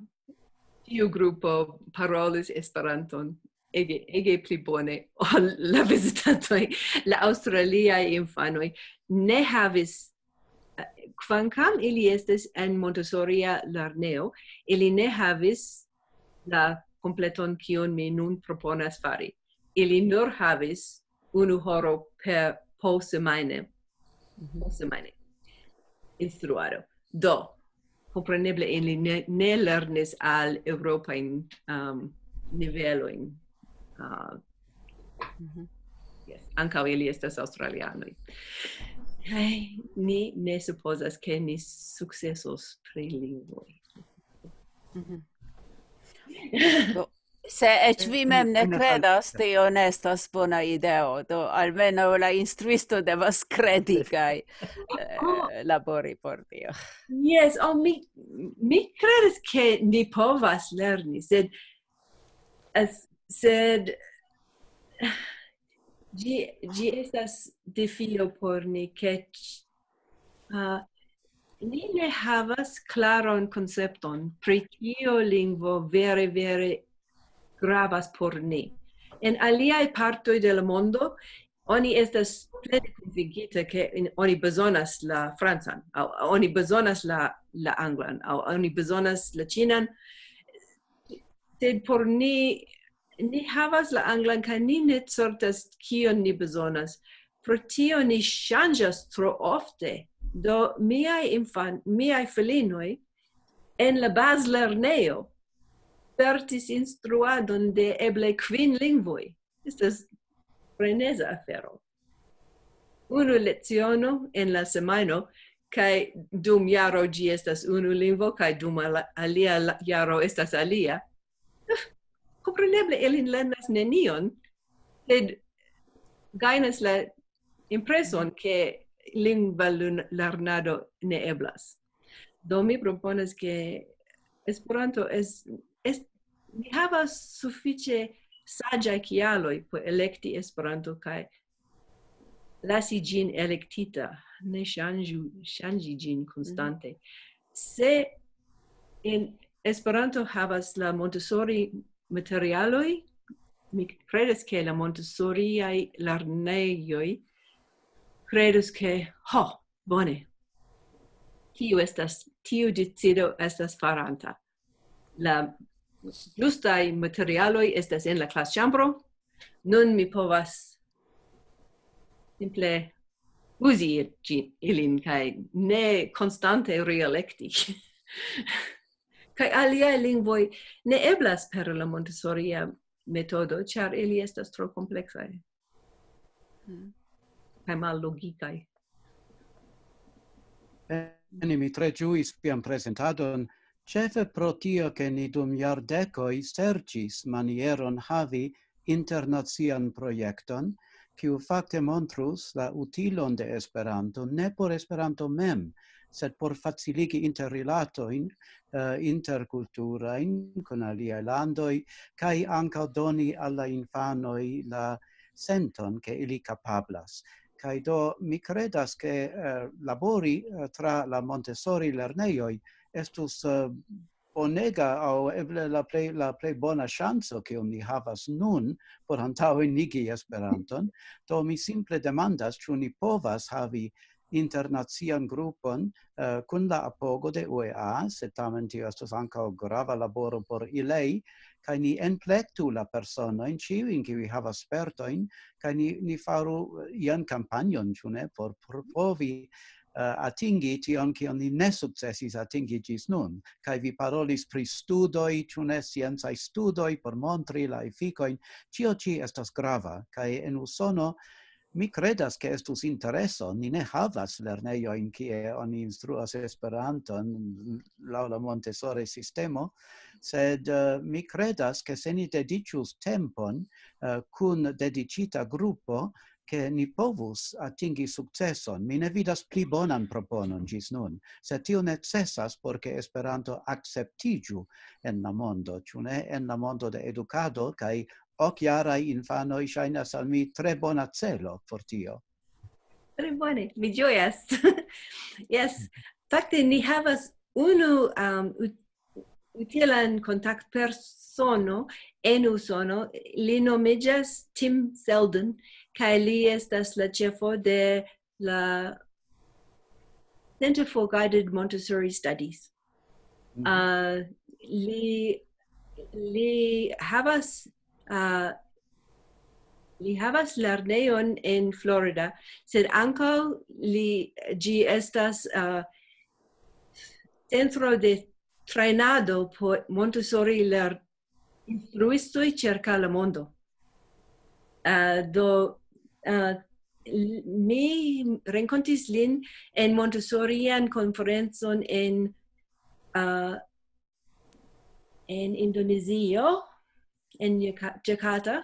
tiu grupo parolis Esperanton ege, ege pli bone ol la vizitantoj. La aŭstraliaj infanoj ne havis, eh, kvankam ili estis en Montessoria lerneo, ili ne havis la kompleton, kion mi nun proponas fari. Ili nur havis unu horo per po semajne. Po semajne. Instruado. Do, kompreneble ili ne, ne lernis al eŭropajn, um, nivelojn. Uh, yes, ankaŭ ili estas aŭstralianoj. Kaj ni ne supozas, ke ni sukcesos pri lingvoj. Do, se eĉ vi mem ne kredas, tio ne estas bona ideo. Do, almenaŭ la instruisto devas kredi kaj, eh, labori por tio. Yes, oh, mi, mi kredas, ke ni povas lerni, sed, es, sed ĝi, ĝi estas defio por ni, ke ĉ-, ah, ni ne havas klaran koncepton pri kio lingvo vere, vere gravas por ni. En aliaj partoj de la mondo, oni estas plene konvinkita, ke in-, oni bezonas la francan, aŭ oni bezonas la, la anglan, aŭ oni bezonas la ĉinan. Sed por ni, ni havas la anglan, kaj ni ne certas, kion ni bezonas. Pro tio ni ŝanĝas tro ofte. Do miaj infan-, miaj filinoj en la bazlernejo spertis instruadon de eble kvin lingvoj. Estas freneza afero. Unu leciono en la semajno, kaj dum jaro ĝi estas unu lingvo, kaj dum ala-, alia la-, jaro estas alia. Kompreneble ilin lernas nenion, sed gajnas la impreson, ke lingva lun-, lernado ne eblas. Do mi proponas, ke Esperanto es-, es-, ni havas sufiĉe saĝaj kialoj por elekti Esperanto kaj lasi ĝin elektita, ne ŝanĝu, ŝanĝi ĝin konstante. Se en Esperanto havas la Montessori materialoj, mi kredas, ke la Montessoriaj lernejoj kredus, ke, ho, bone, tiu estas, tiu decido estas faranta. La ĝustaj materialoj estas en la klasĉambro. Nun mi povas simple uzi ĝi-, ilin kaj ne konstante realekti. Kaj aliaj lingvoj ne eblas per la Montessoria metodo, ĉar ili estas tro kompleksaj. Kaj mallogikaj. Bene, mi tre ĝuis vian prezentadon, ĉefe pro tio, ke ni dum jardekoj serĉis manieron havi internacian projekton, kiu fakte montrus la utilon de Esperanto, ne por Esperanto mem, sed por faciligi interrilatojn, eh, interkulturajn kun aliaj landoj, kaj ankaŭ doni al la infanoj la senton, ke ili kapablas. Kaj do mi kredas, ke, eh, labori, eh, tra la Montessori lernejoj estus, eh, bonega aŭ eble la plej, la plej bona ŝanco, kiun ni havas nun por antaŭenigi Esperanton. Do mi simple demandas, ĉu ni povas havi internacian grupon, eh, kun la apogo de U E A, sed tamen tio estos ankaŭ grava laboro por ilei, kaj ni enplektu la personojn, ĉiujn, kiuj havas spertojn, kaj ni, ni faru, eh, ian kampanjon, ĉu ne, por provi, eh, atingi tion, kion ni ne sukcesis atingi ĝis nun. Kaj vi parolis pri studoj, ĉu ne, sciencaj studoj por montri la efikojn. Ĉio ĉi estas grava, kaj en Usono mi kredas, ke estus intereso. Ni ne havas lernejojn, kie oni instruas Esperanton laŭ la Montessori sistemo, sed, eh, mi kredas, ke se ni dediĉus tempon, eh, kun dediĉita grupo, ke ni povus atingi sukceson. Mi ne vidas pli bonan proponon ĝis nun, sed tio necesas, por ke Esperanto akceptiĝu en la mondo, ĉu ne, en la mondo de edukado, kaj okjaraj infanoj ŝajnas al mi tre bona celo por tio. Tre bone, mi ĝojas. Yes, fakte ni havas unu, um, ut-, utilan kontaktpersono en Usono, li nomiĝas Tim Selden, kaj li estas la ĉefo de la Center for Guided Montessori Studies. Mhm. Uh, li, li havas, uh, li havas lernejon en Florida, sed ankaŭ li, ĝi estas, uh, centro de trejnado por Montessori ler-, instruistoj ĉirkaŭ la mondo. Uh, do, uh, l-, mi renkontis lin en Montessorian konferencon en, uh, en Indonezio, en Jaka-, Jakarta,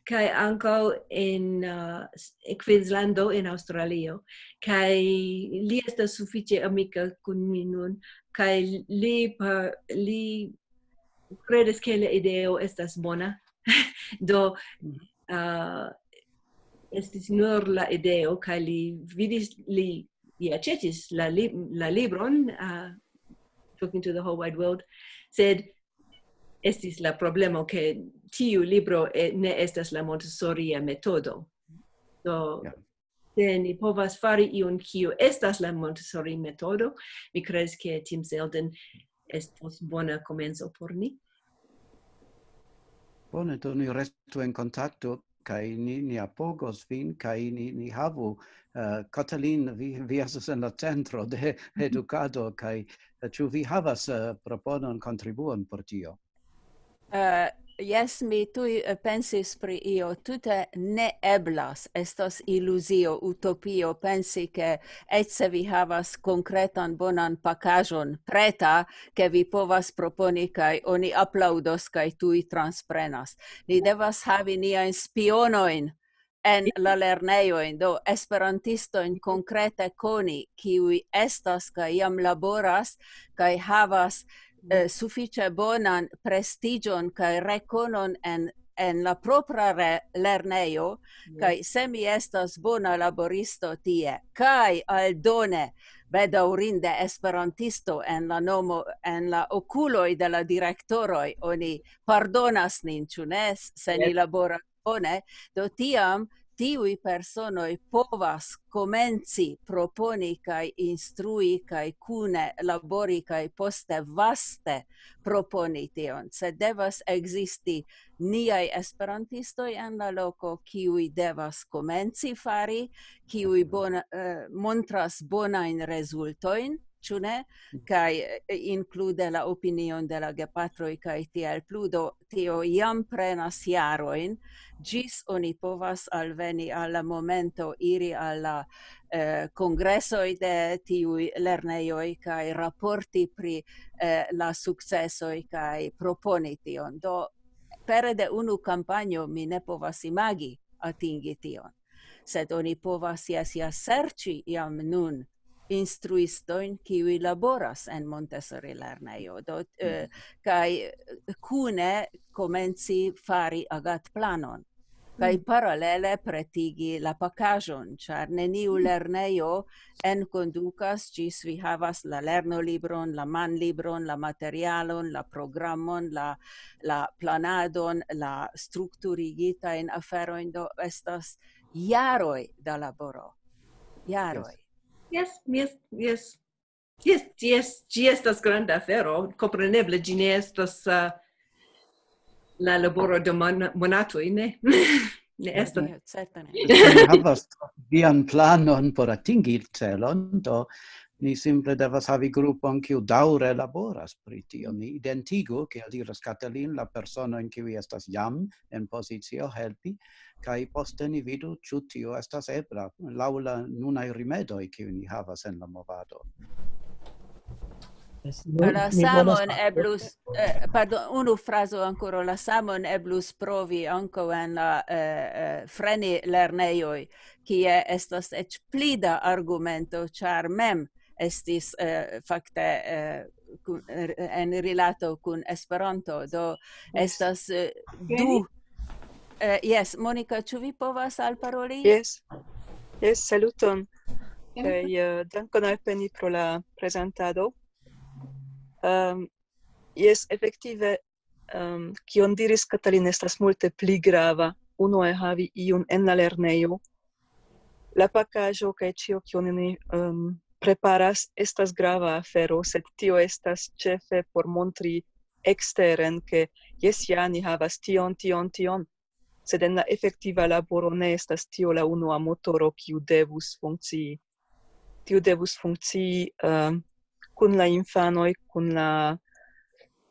kaj ankaŭ en, uh, s-, Queenslando en Aŭstralio. Kaj li estas sufiĉe amika kun mi nun, kaj li pa-, li kredas, ke la ideo estas bona. Do, uh, estis nur la ideo, kaj li vidis, li, li aĉetis la li-, la libron, uh, Talking to the Whole Wide World, sed estis la problemo, ke tiu libro, eh, ne estas la Montessoria metodo. Do, Ja. Se ni povas fari ion, kiu estas la Montessori metodo, mi kredas, ke Tim Selden estos bona komenco por ni. Bone, do ni restu en kontakto, kaj ni, ni apogos vin, kaj ni, ni havu, eh, Katalin, vi, vi estas en la centro de edukado, kaj, eh, ĉu vi havas, eh, proponon, kontribuon por tio? Eh, jes, mi tuj, eh, pensis pri io. Tute ne eblas, estos iluzio, utopio, pensi, ke eĉ se vi havas konkretan bonan pakaĵon preta, ke vi povas proponi, kaj oni aplaŭdos, kaj tuj transprenas. Ni devas havi niajn spionojn en la lernejojn, do esperantistojn konkrete koni, kiuj estas kaj jam laboras, kaj havas, eh, sufiĉe bonan prestiĝon kaj rekonon en, en la propra re-, lernejo, kaj se mi estas bona laboristo tie, kaj aldone, bedaŭrinde, esperantisto en la nomo, en la okuloj de la direktoroj, oni pardonas nin, ĉu ne, se ni laboras bone, do tiam tiuj personoj povas komenci proponi kaj instrui kaj kune labori kaj poste vaste proponi tion. Sed devas ekzisti niaj esperantistoj en la loko, kiuj devas komenci fari, kiuj bona, eh, montras bonajn rezultojn, ĉu ne? Kaj, eh, inklude la opinion de la gepatroj kaj tiel plu. Do tio jam prenas jarojn, ĝis oni povas alveni al la momento iri al la, eh, kongresoj de tiuj lernejoj kaj raporti pri, eh, la sukcesoj kaj proponi tion. Do pere de unu kampanjo mi ne povas imagi atingi tion. Sed oni povas, jes, ja serĉi jam nun instruistojn, kiuj laboras en Montessori lernejo. Do, eh, kaj kune komenci fari agatplanon. kaj paralele pretigi la pakaĵon, ĉar neniu lernejo enkondukas, ĝis vi havas la lernolibron, la manlibron, la materialon, la programon, la, la planadon, la strukturigitajn aferojn, do estas jaroj da laboro. Jaroj. Jes, jes, jes. Jes, jes, ĝi estas granda afero. Kompreneble, ĝi ne estas, eh, la laboro de mon-, monatoj, ne? Ne estas. Certe ne. Ni havas vian planon por atingi celon, do ni simple devas havi grupon, kiu daŭre laboras pri tio. Ni identigu, kiel diras Katalin, la personojn, kiuj estas jam en pozicio helpi, kaj poste ni vidu, ĉu tio estas ebla laŭ la nunaj rimedoj, kiuj ni havas en la movado. La samon eblus, eh, pardon, unu frazo ankoraŭ, la samon eblus provi ankaŭ en la, eh, eh, freni lernejoj, kie estas eĉ pli da argumento, ĉar mem estis, eh, fakte, eh, kun, eh, en rilato kun Esperanto. Do estas, eh, du. Eh, jes, Monika, ĉu vi povas alparoli? Jes, jes, saluton. Kaj, eh, dankon al Penny pro la prezentado. Ehm, jes, efektive, ehm, kion diris Katalin estas multe pli grava. Unue havi iun en la lernejo. La pakaĵo kaj ĉio, kion ni, ehm, preparas, estas grava afero, sed tio estas ĉefe por montri eksteren, ke jes, ja, ni havas tion, tion, tion, sed en la efektiva laboro ne estas tio la unua motoro, kiu devus funkcii. Tio devus funkcii, ehm, kun la infanoj, kun la,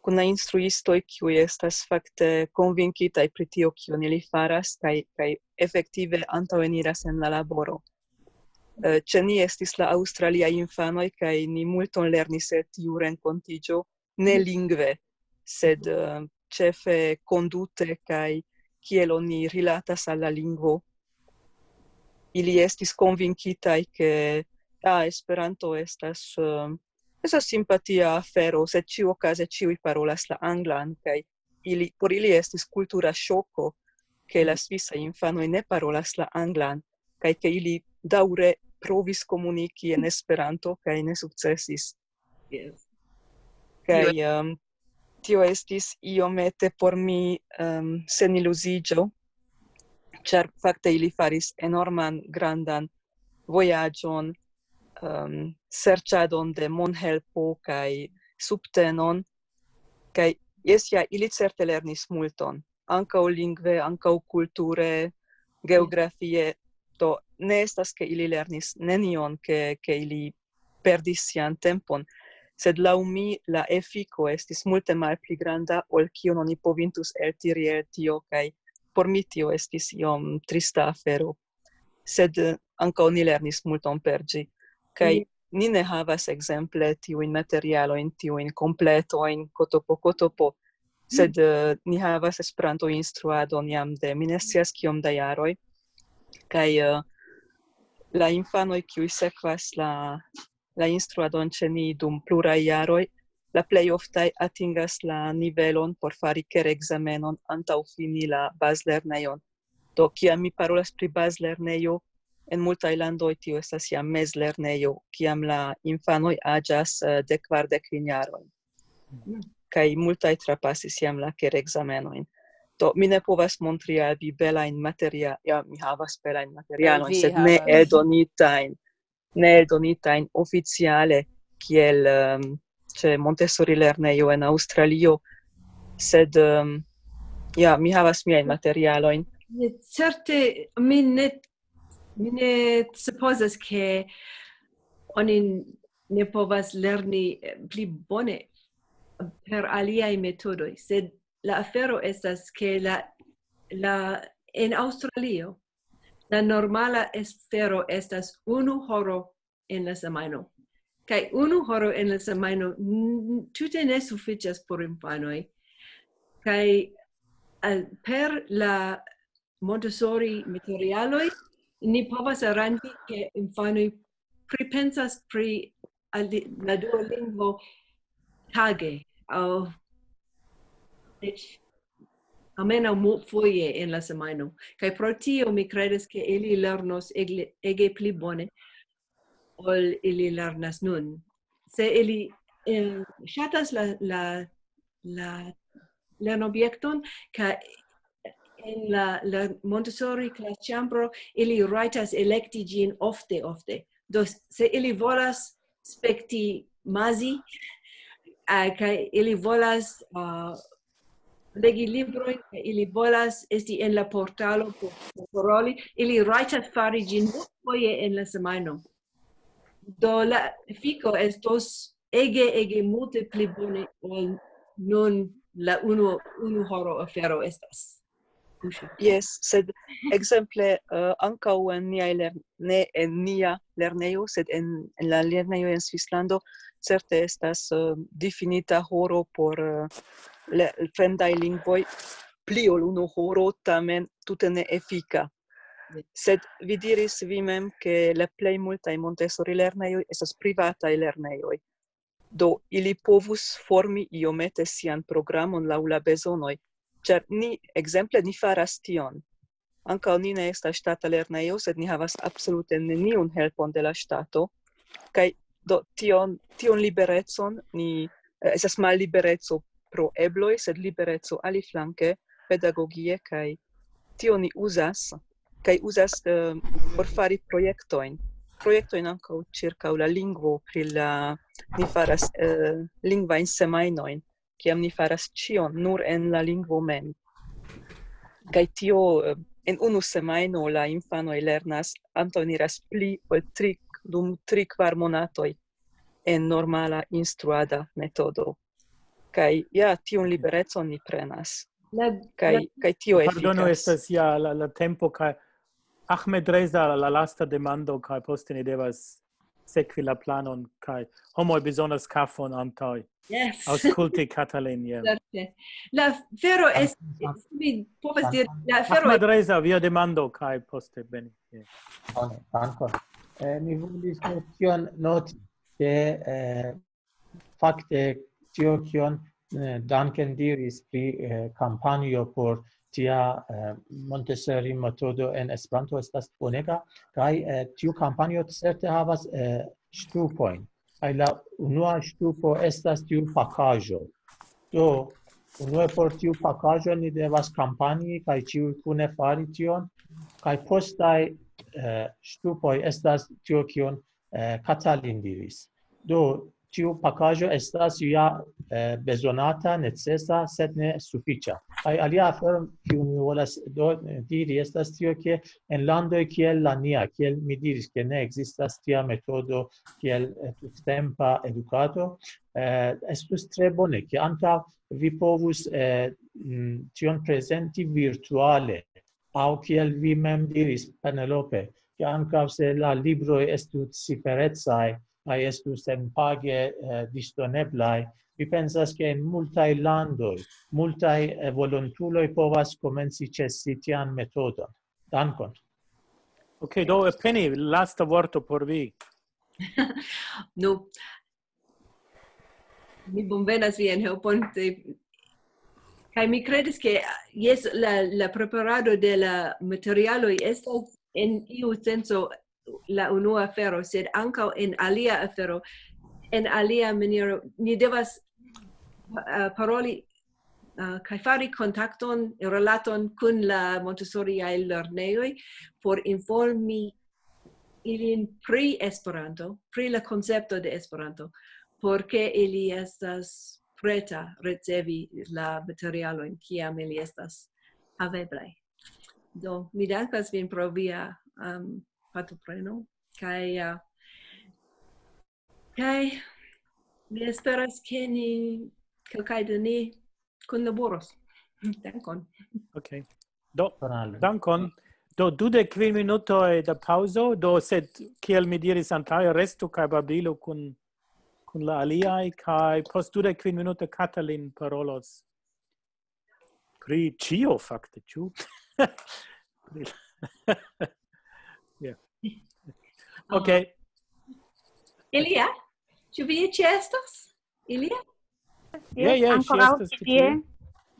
kun la instruistoj, kiuj estas fakte konvinkitaj pri tio, kion ili faras, kaj, kaj efektive antaŭeniras en la laboro. Eh, ĉe ni estis la aŭstraliaj infanoj, kaj ni multon lernis el tiu renkontiĝo, ne lingve, sed, eh, ĉefe kondute kaj kiel oni rilatas al la lingvo. Ili estis konvinkitaj, ke, ah, Esperanto estas, eh, estas simpatia afero, sed ĉiuokaze ĉiuj parolas la anglan, kaj ili, por ili estis kultura ŝoko, ke la svisaj infanoj ne parolas la anglan, kaj ke ili daŭre provis komuniki en Esperanto, kaj ne sukcesis. Jes. Kaj, ehm, tio estis iomete por mi, ehm, seniluziĝo, ĉar fakte ili faris enorman grandan vojaĝon, ehm, serĉadon de monhelpo kaj subtenon, kaj jes, ja, ili certe lernis multon, ankaŭ lingve, ankaŭ kulture, geografie. Do ne estas, ke ili lernis nenion, ke, ke ili perdis sian tempon, sed laŭ mi la efiko estis multe malpli granda ol kion oni povintus eltiri el tio, kaj por mi tio estis iom trista afero. Sed, eh, ankaŭ ni lernis multon per ĝi. Kaj ni ne havas ekzemple tiujn materialojn, tiujn kompletojn, kotopo, kotopo, sed, eh, ni havas Esperanto-instruadon jam de mi ne scias kiom da jaroj. Kaj, eh, la infanoj, kiuj sekvas la, la instruadon ĉe ni dum pluraj jaroj, la plej oftaj atingas la nivelon por fari kerekzamenon antaŭ fini la bazlernejon. Do, kiam mi parolas pri bazlernejo, en multaj landoj tio estas jam mezlernejo, kiam la infanoj aĝas, eh, de kvardek kvin jaroj. Kaj multaj trapasis jam la kerekzamenojn. Do, mi ne povas montri al vi belajn materia-, ja, mi havas belajn materialojn, Vi sed ne havas. Eldonitajn, ne eldonitajn oficiale, kiel, ehm, ĉe Montessori lernejo en Aŭstralio, sed, ehm, ja, mi havas miajn materialojn. Ne, certe, mi ne, mi ne supozas, ke oni ne povas lerni, eh, pli bone per aliaj metodoj, sed la afero estas, ke la, la, en Aŭstralio, la normala afero estas unu horo en la semajno. Kaj unu horo en la semajno n-, tute ne sufiĉas por infanoj. Kaj, eh, per la Montessori materialoj, ni povas aranĝi, ke infanoj pripensas pri ali-, la dua lingvo tage. Aŭ eĉ almenaŭ mu-, foje en la semajno. Kaj pro tio mi kredas, ke ili lernos egle-, ege pli bone ol ili lernas nun. Se ili, eh, ŝatas la, la, la lernobjekton, kaj en la, la Montessori klasĉambro ili rajtas elekti ĝin ofte, ofte. Do, se ili volas spekti Mazi, eh, kaj ili volas, eh, legi librojn, kaj ili volas esti en la portalo por, por paroli, ili rajtas fari ĝin foje en la semajno. Do, la efiko estos ege, ege multe pli bone ol nun la unu, unu horo afero estas. Kuŝi. Jes, sed ekzemple, eh, ankaŭ en niaj lern-, ne en nia lernejo, sed en, en la lernejo en Svislando, certe estas, eh, difinita horo por, eh, le-, fremdaj lingvoj, pli ol unu horo, tamen tute ne efika. Jes. Sed vi diris vi mem, ke la plej multaj Montessori lernejoj estas privataj lernejoj. Do ili povus formi iomete sian programon laŭ la bezonoj, ĉar ni, ekzemple, ni faras tion. Ankaŭ ni ne estas ŝtata lernejo, sed ni havas absolute neniun helpon de la ŝtato. Kaj do tion, tion liberecon ni, eh, estas mallibereco pro ebloj, sed libereco aliflanke pedagogie, kaj tio ni uzas, kaj uzas, eh, por fari projektojn. Projektojn ankaŭ ĉirkaŭ la lingvo, pri la, ni faras, eh, lingvajn semajnojn, kiam ni faras ĉion nur en la lingvo mem. Kaj tio, eh, en unu semajno la infanoj lernas, antaŭeniras pli ol tri, dum tri, kvar monatoj en normala instruada metodo. Kaj ja, tiun liberecon ni prenas. La, kaj, la, kaj tio Pardonu, efikas. Estas ja la, la tempo, kaj Ahmed Reza, la, la lasta demando, kaj poste ni devas sekvi la planon, kaj homoj bezonas kafon antaŭ Yes. Aŭskulti, Katalin, ja. Certe. La afero es-, mi povas diri, la afero Ahmed Reza, via demando, kaj poste Beni. Ja. Bone, dankon. Eh, mi volis nur tion noti, ke, eh, fakte tio, kion, eh, Duncan diris pri, eh, kampanjo por tia, eh, Montessori metodo en Esperanto estas bonega, kaj, eh, tiu kampanjo certe havas, eh, ŝtupojn. Kaj la unua ŝtupo estas tiu pakaĵo. Do, unue por tiu pakaĵo ni devas kampanji kaj ĉiuj kune fari tion, kaj postaj, eh, ŝtupoj estas tio, kion, eh, Katalin diris. Do, tiu pakaĵo estas ja, eh, bezonata, necesa, sed ne sufiĉa. Kaj alia afero, kiu mi volas do, diri, estas tio, ke en landoj kiel la nia, kiel mi diris, ke ne ekzistas tia metodo kiel, eh, tuttempa edukado, eh, estus tre bone, ke ankaŭ vi povus, eh, mm, tion prezenti virtuale, aŭ kiel vi mem diris, Penelope, ke ankaŭ se la libroj estus ciferecaj, kaj estus senpage, eh, disdoneblaj, mi pensas, ke en multaj landoj, multaj, eh, volontuloj povas komenci ĉesi tian metodon. Dankon. Ok, do, Penny, lasta vorto por vi. Nu, mi bonvenas vian helpon, se-, kaj mi kredas, ke, jes, la, la preparado de la materialoj estas en iu senco la unua afero, sed ankaŭ en alia afero, en alia maniero, ni devas, eh, paroli, eh, kaj fari kontakton, relaton kun la Montessoriaj lernejoj por informi ilin pri Esperanto, pri la koncepto de Esperanto, por ke ili estas preta ricevi la materialojn, kiam ili estas haveblaj. Do, mi dankas vin pro via, um, partopreno, kaj, uh, kaj mi esperas, ke ni, kelkaj de ni kunlaboros. Dankon. Ok. Do, Bonale. Dankon. Do, dudek kvin minutoj da paŭzo. Do, sed, kiel mi diris antaŭe, restu kaj babilu kun, kun la aliaj, kaj post dudek kvin minutoj Katalin parolos pri ĉio, fakte, ĉu? Pri la-, ja. Ok. Ilia? Ĉu vi ĉeestos? Ilia? Ja, ja, ŝi ankoraŭ estas ĉi ĉi tie. Tie.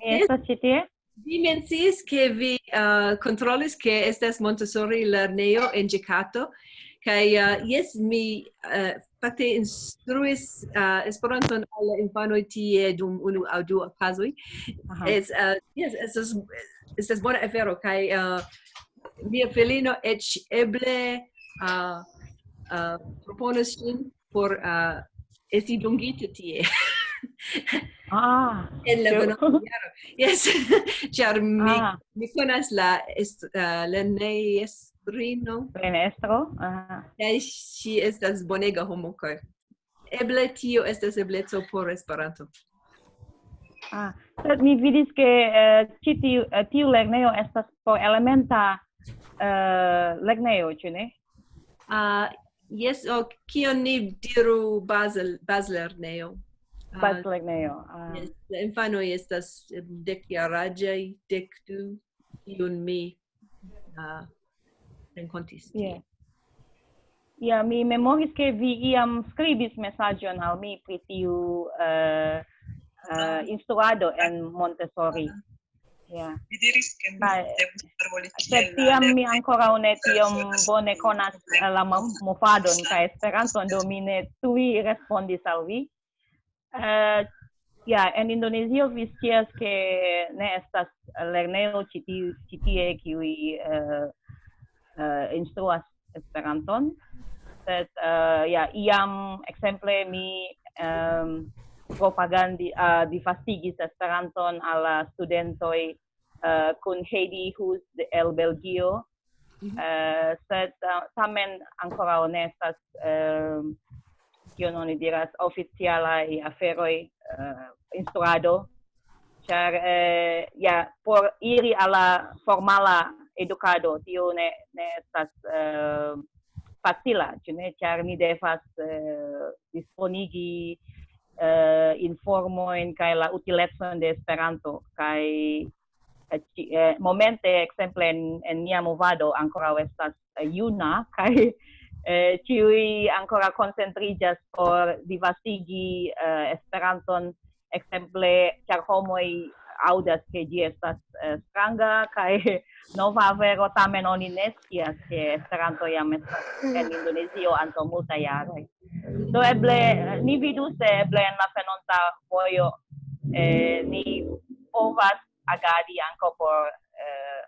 Mi estas ĉi tie. Vi menciis, ke vi uh, kontrolis, ke estas Montessori lernejo en Ĝekato. Kaj uh, jes, mi uh, fakte instruis uh, Esperanton al la infanoj tie dum unu aŭ du okazoj. Es, uh, yes, estas, estas bona afero. Kaj uh, mia filino eĉ eble uh, uh, proponos ŝin por uh, esti dungita tie. Ah, En la so- venonta jaro. Yes, ĉar mi, Ah. Mi konas la est, uh, lernejestrino, Lernestro? Ah. Kaj ŝi estas bonega homo, kaj eble tio estas ebleco por Esperanto. Ah. Sed mi vidis, ke eh, ĉi tiu, eh, tiu lernejo estas por elementa eh, lernejo, ĉu ne? Uh, yes, o kion ni diru baz, bazlernejo. Uh, Bazlernejo. Ah. Yes, la infanoj estas dekjaraĝaj, dek du, kiun mi uh, renkontis. Yeah. Ja, mi memoris, ke vi iam skribis mesaĝon al mi pri tiu eh, eh, instruado en Montessori. Ja. Mi diris, ke mi Kaj- devus paroli Sed kiel tiam la mi ankoraŭ ne tiom bone konas eh, la mo- movadon kaj Esperanton, do mi ne tuj respondis al vi. Eh, ja, en Indonezio vi scias, ke ne estas lernejo ĉi tiu, ĉi tie, kiuj eh, eh, instruas Esperanton. Sed eh, ja, iam ekzemple mi um, propagandi, uh, disvastigis Esperanton al la studentoj uh, kun Heidi Hus de el Belgio. Uh, sed uh, tamen ankoraŭ ne estas, uh, kion oni diras, oficialaj aferoj, uh, instruado. Ĉar uh, ja, por iri al la formala edukado, tio ne, ne estas uh, facila, ĉu ne? Ĉar ni devas uh, disponigi uh, informojn kaj la utilecon de Esperanto. Kaj eh, ĉi- eh, momente, ekzemple en, en nia movado, ankoraŭ estas eh, juna, kaj eh, ĉiuj ankoraŭ koncentriĝas por disvastigi eh, Esperanton, ekzemple, ĉar homoj aŭdas, ke ĝi estas eh, stranga kaj nova afero, tamen oni ne scias, ke Esperanto jam estas en Indonezio antaŭ multaj jaroj. Do eble eh, ni vidu, se eble en la venonta vojo eh, ni povas agadi ankaŭ por eh,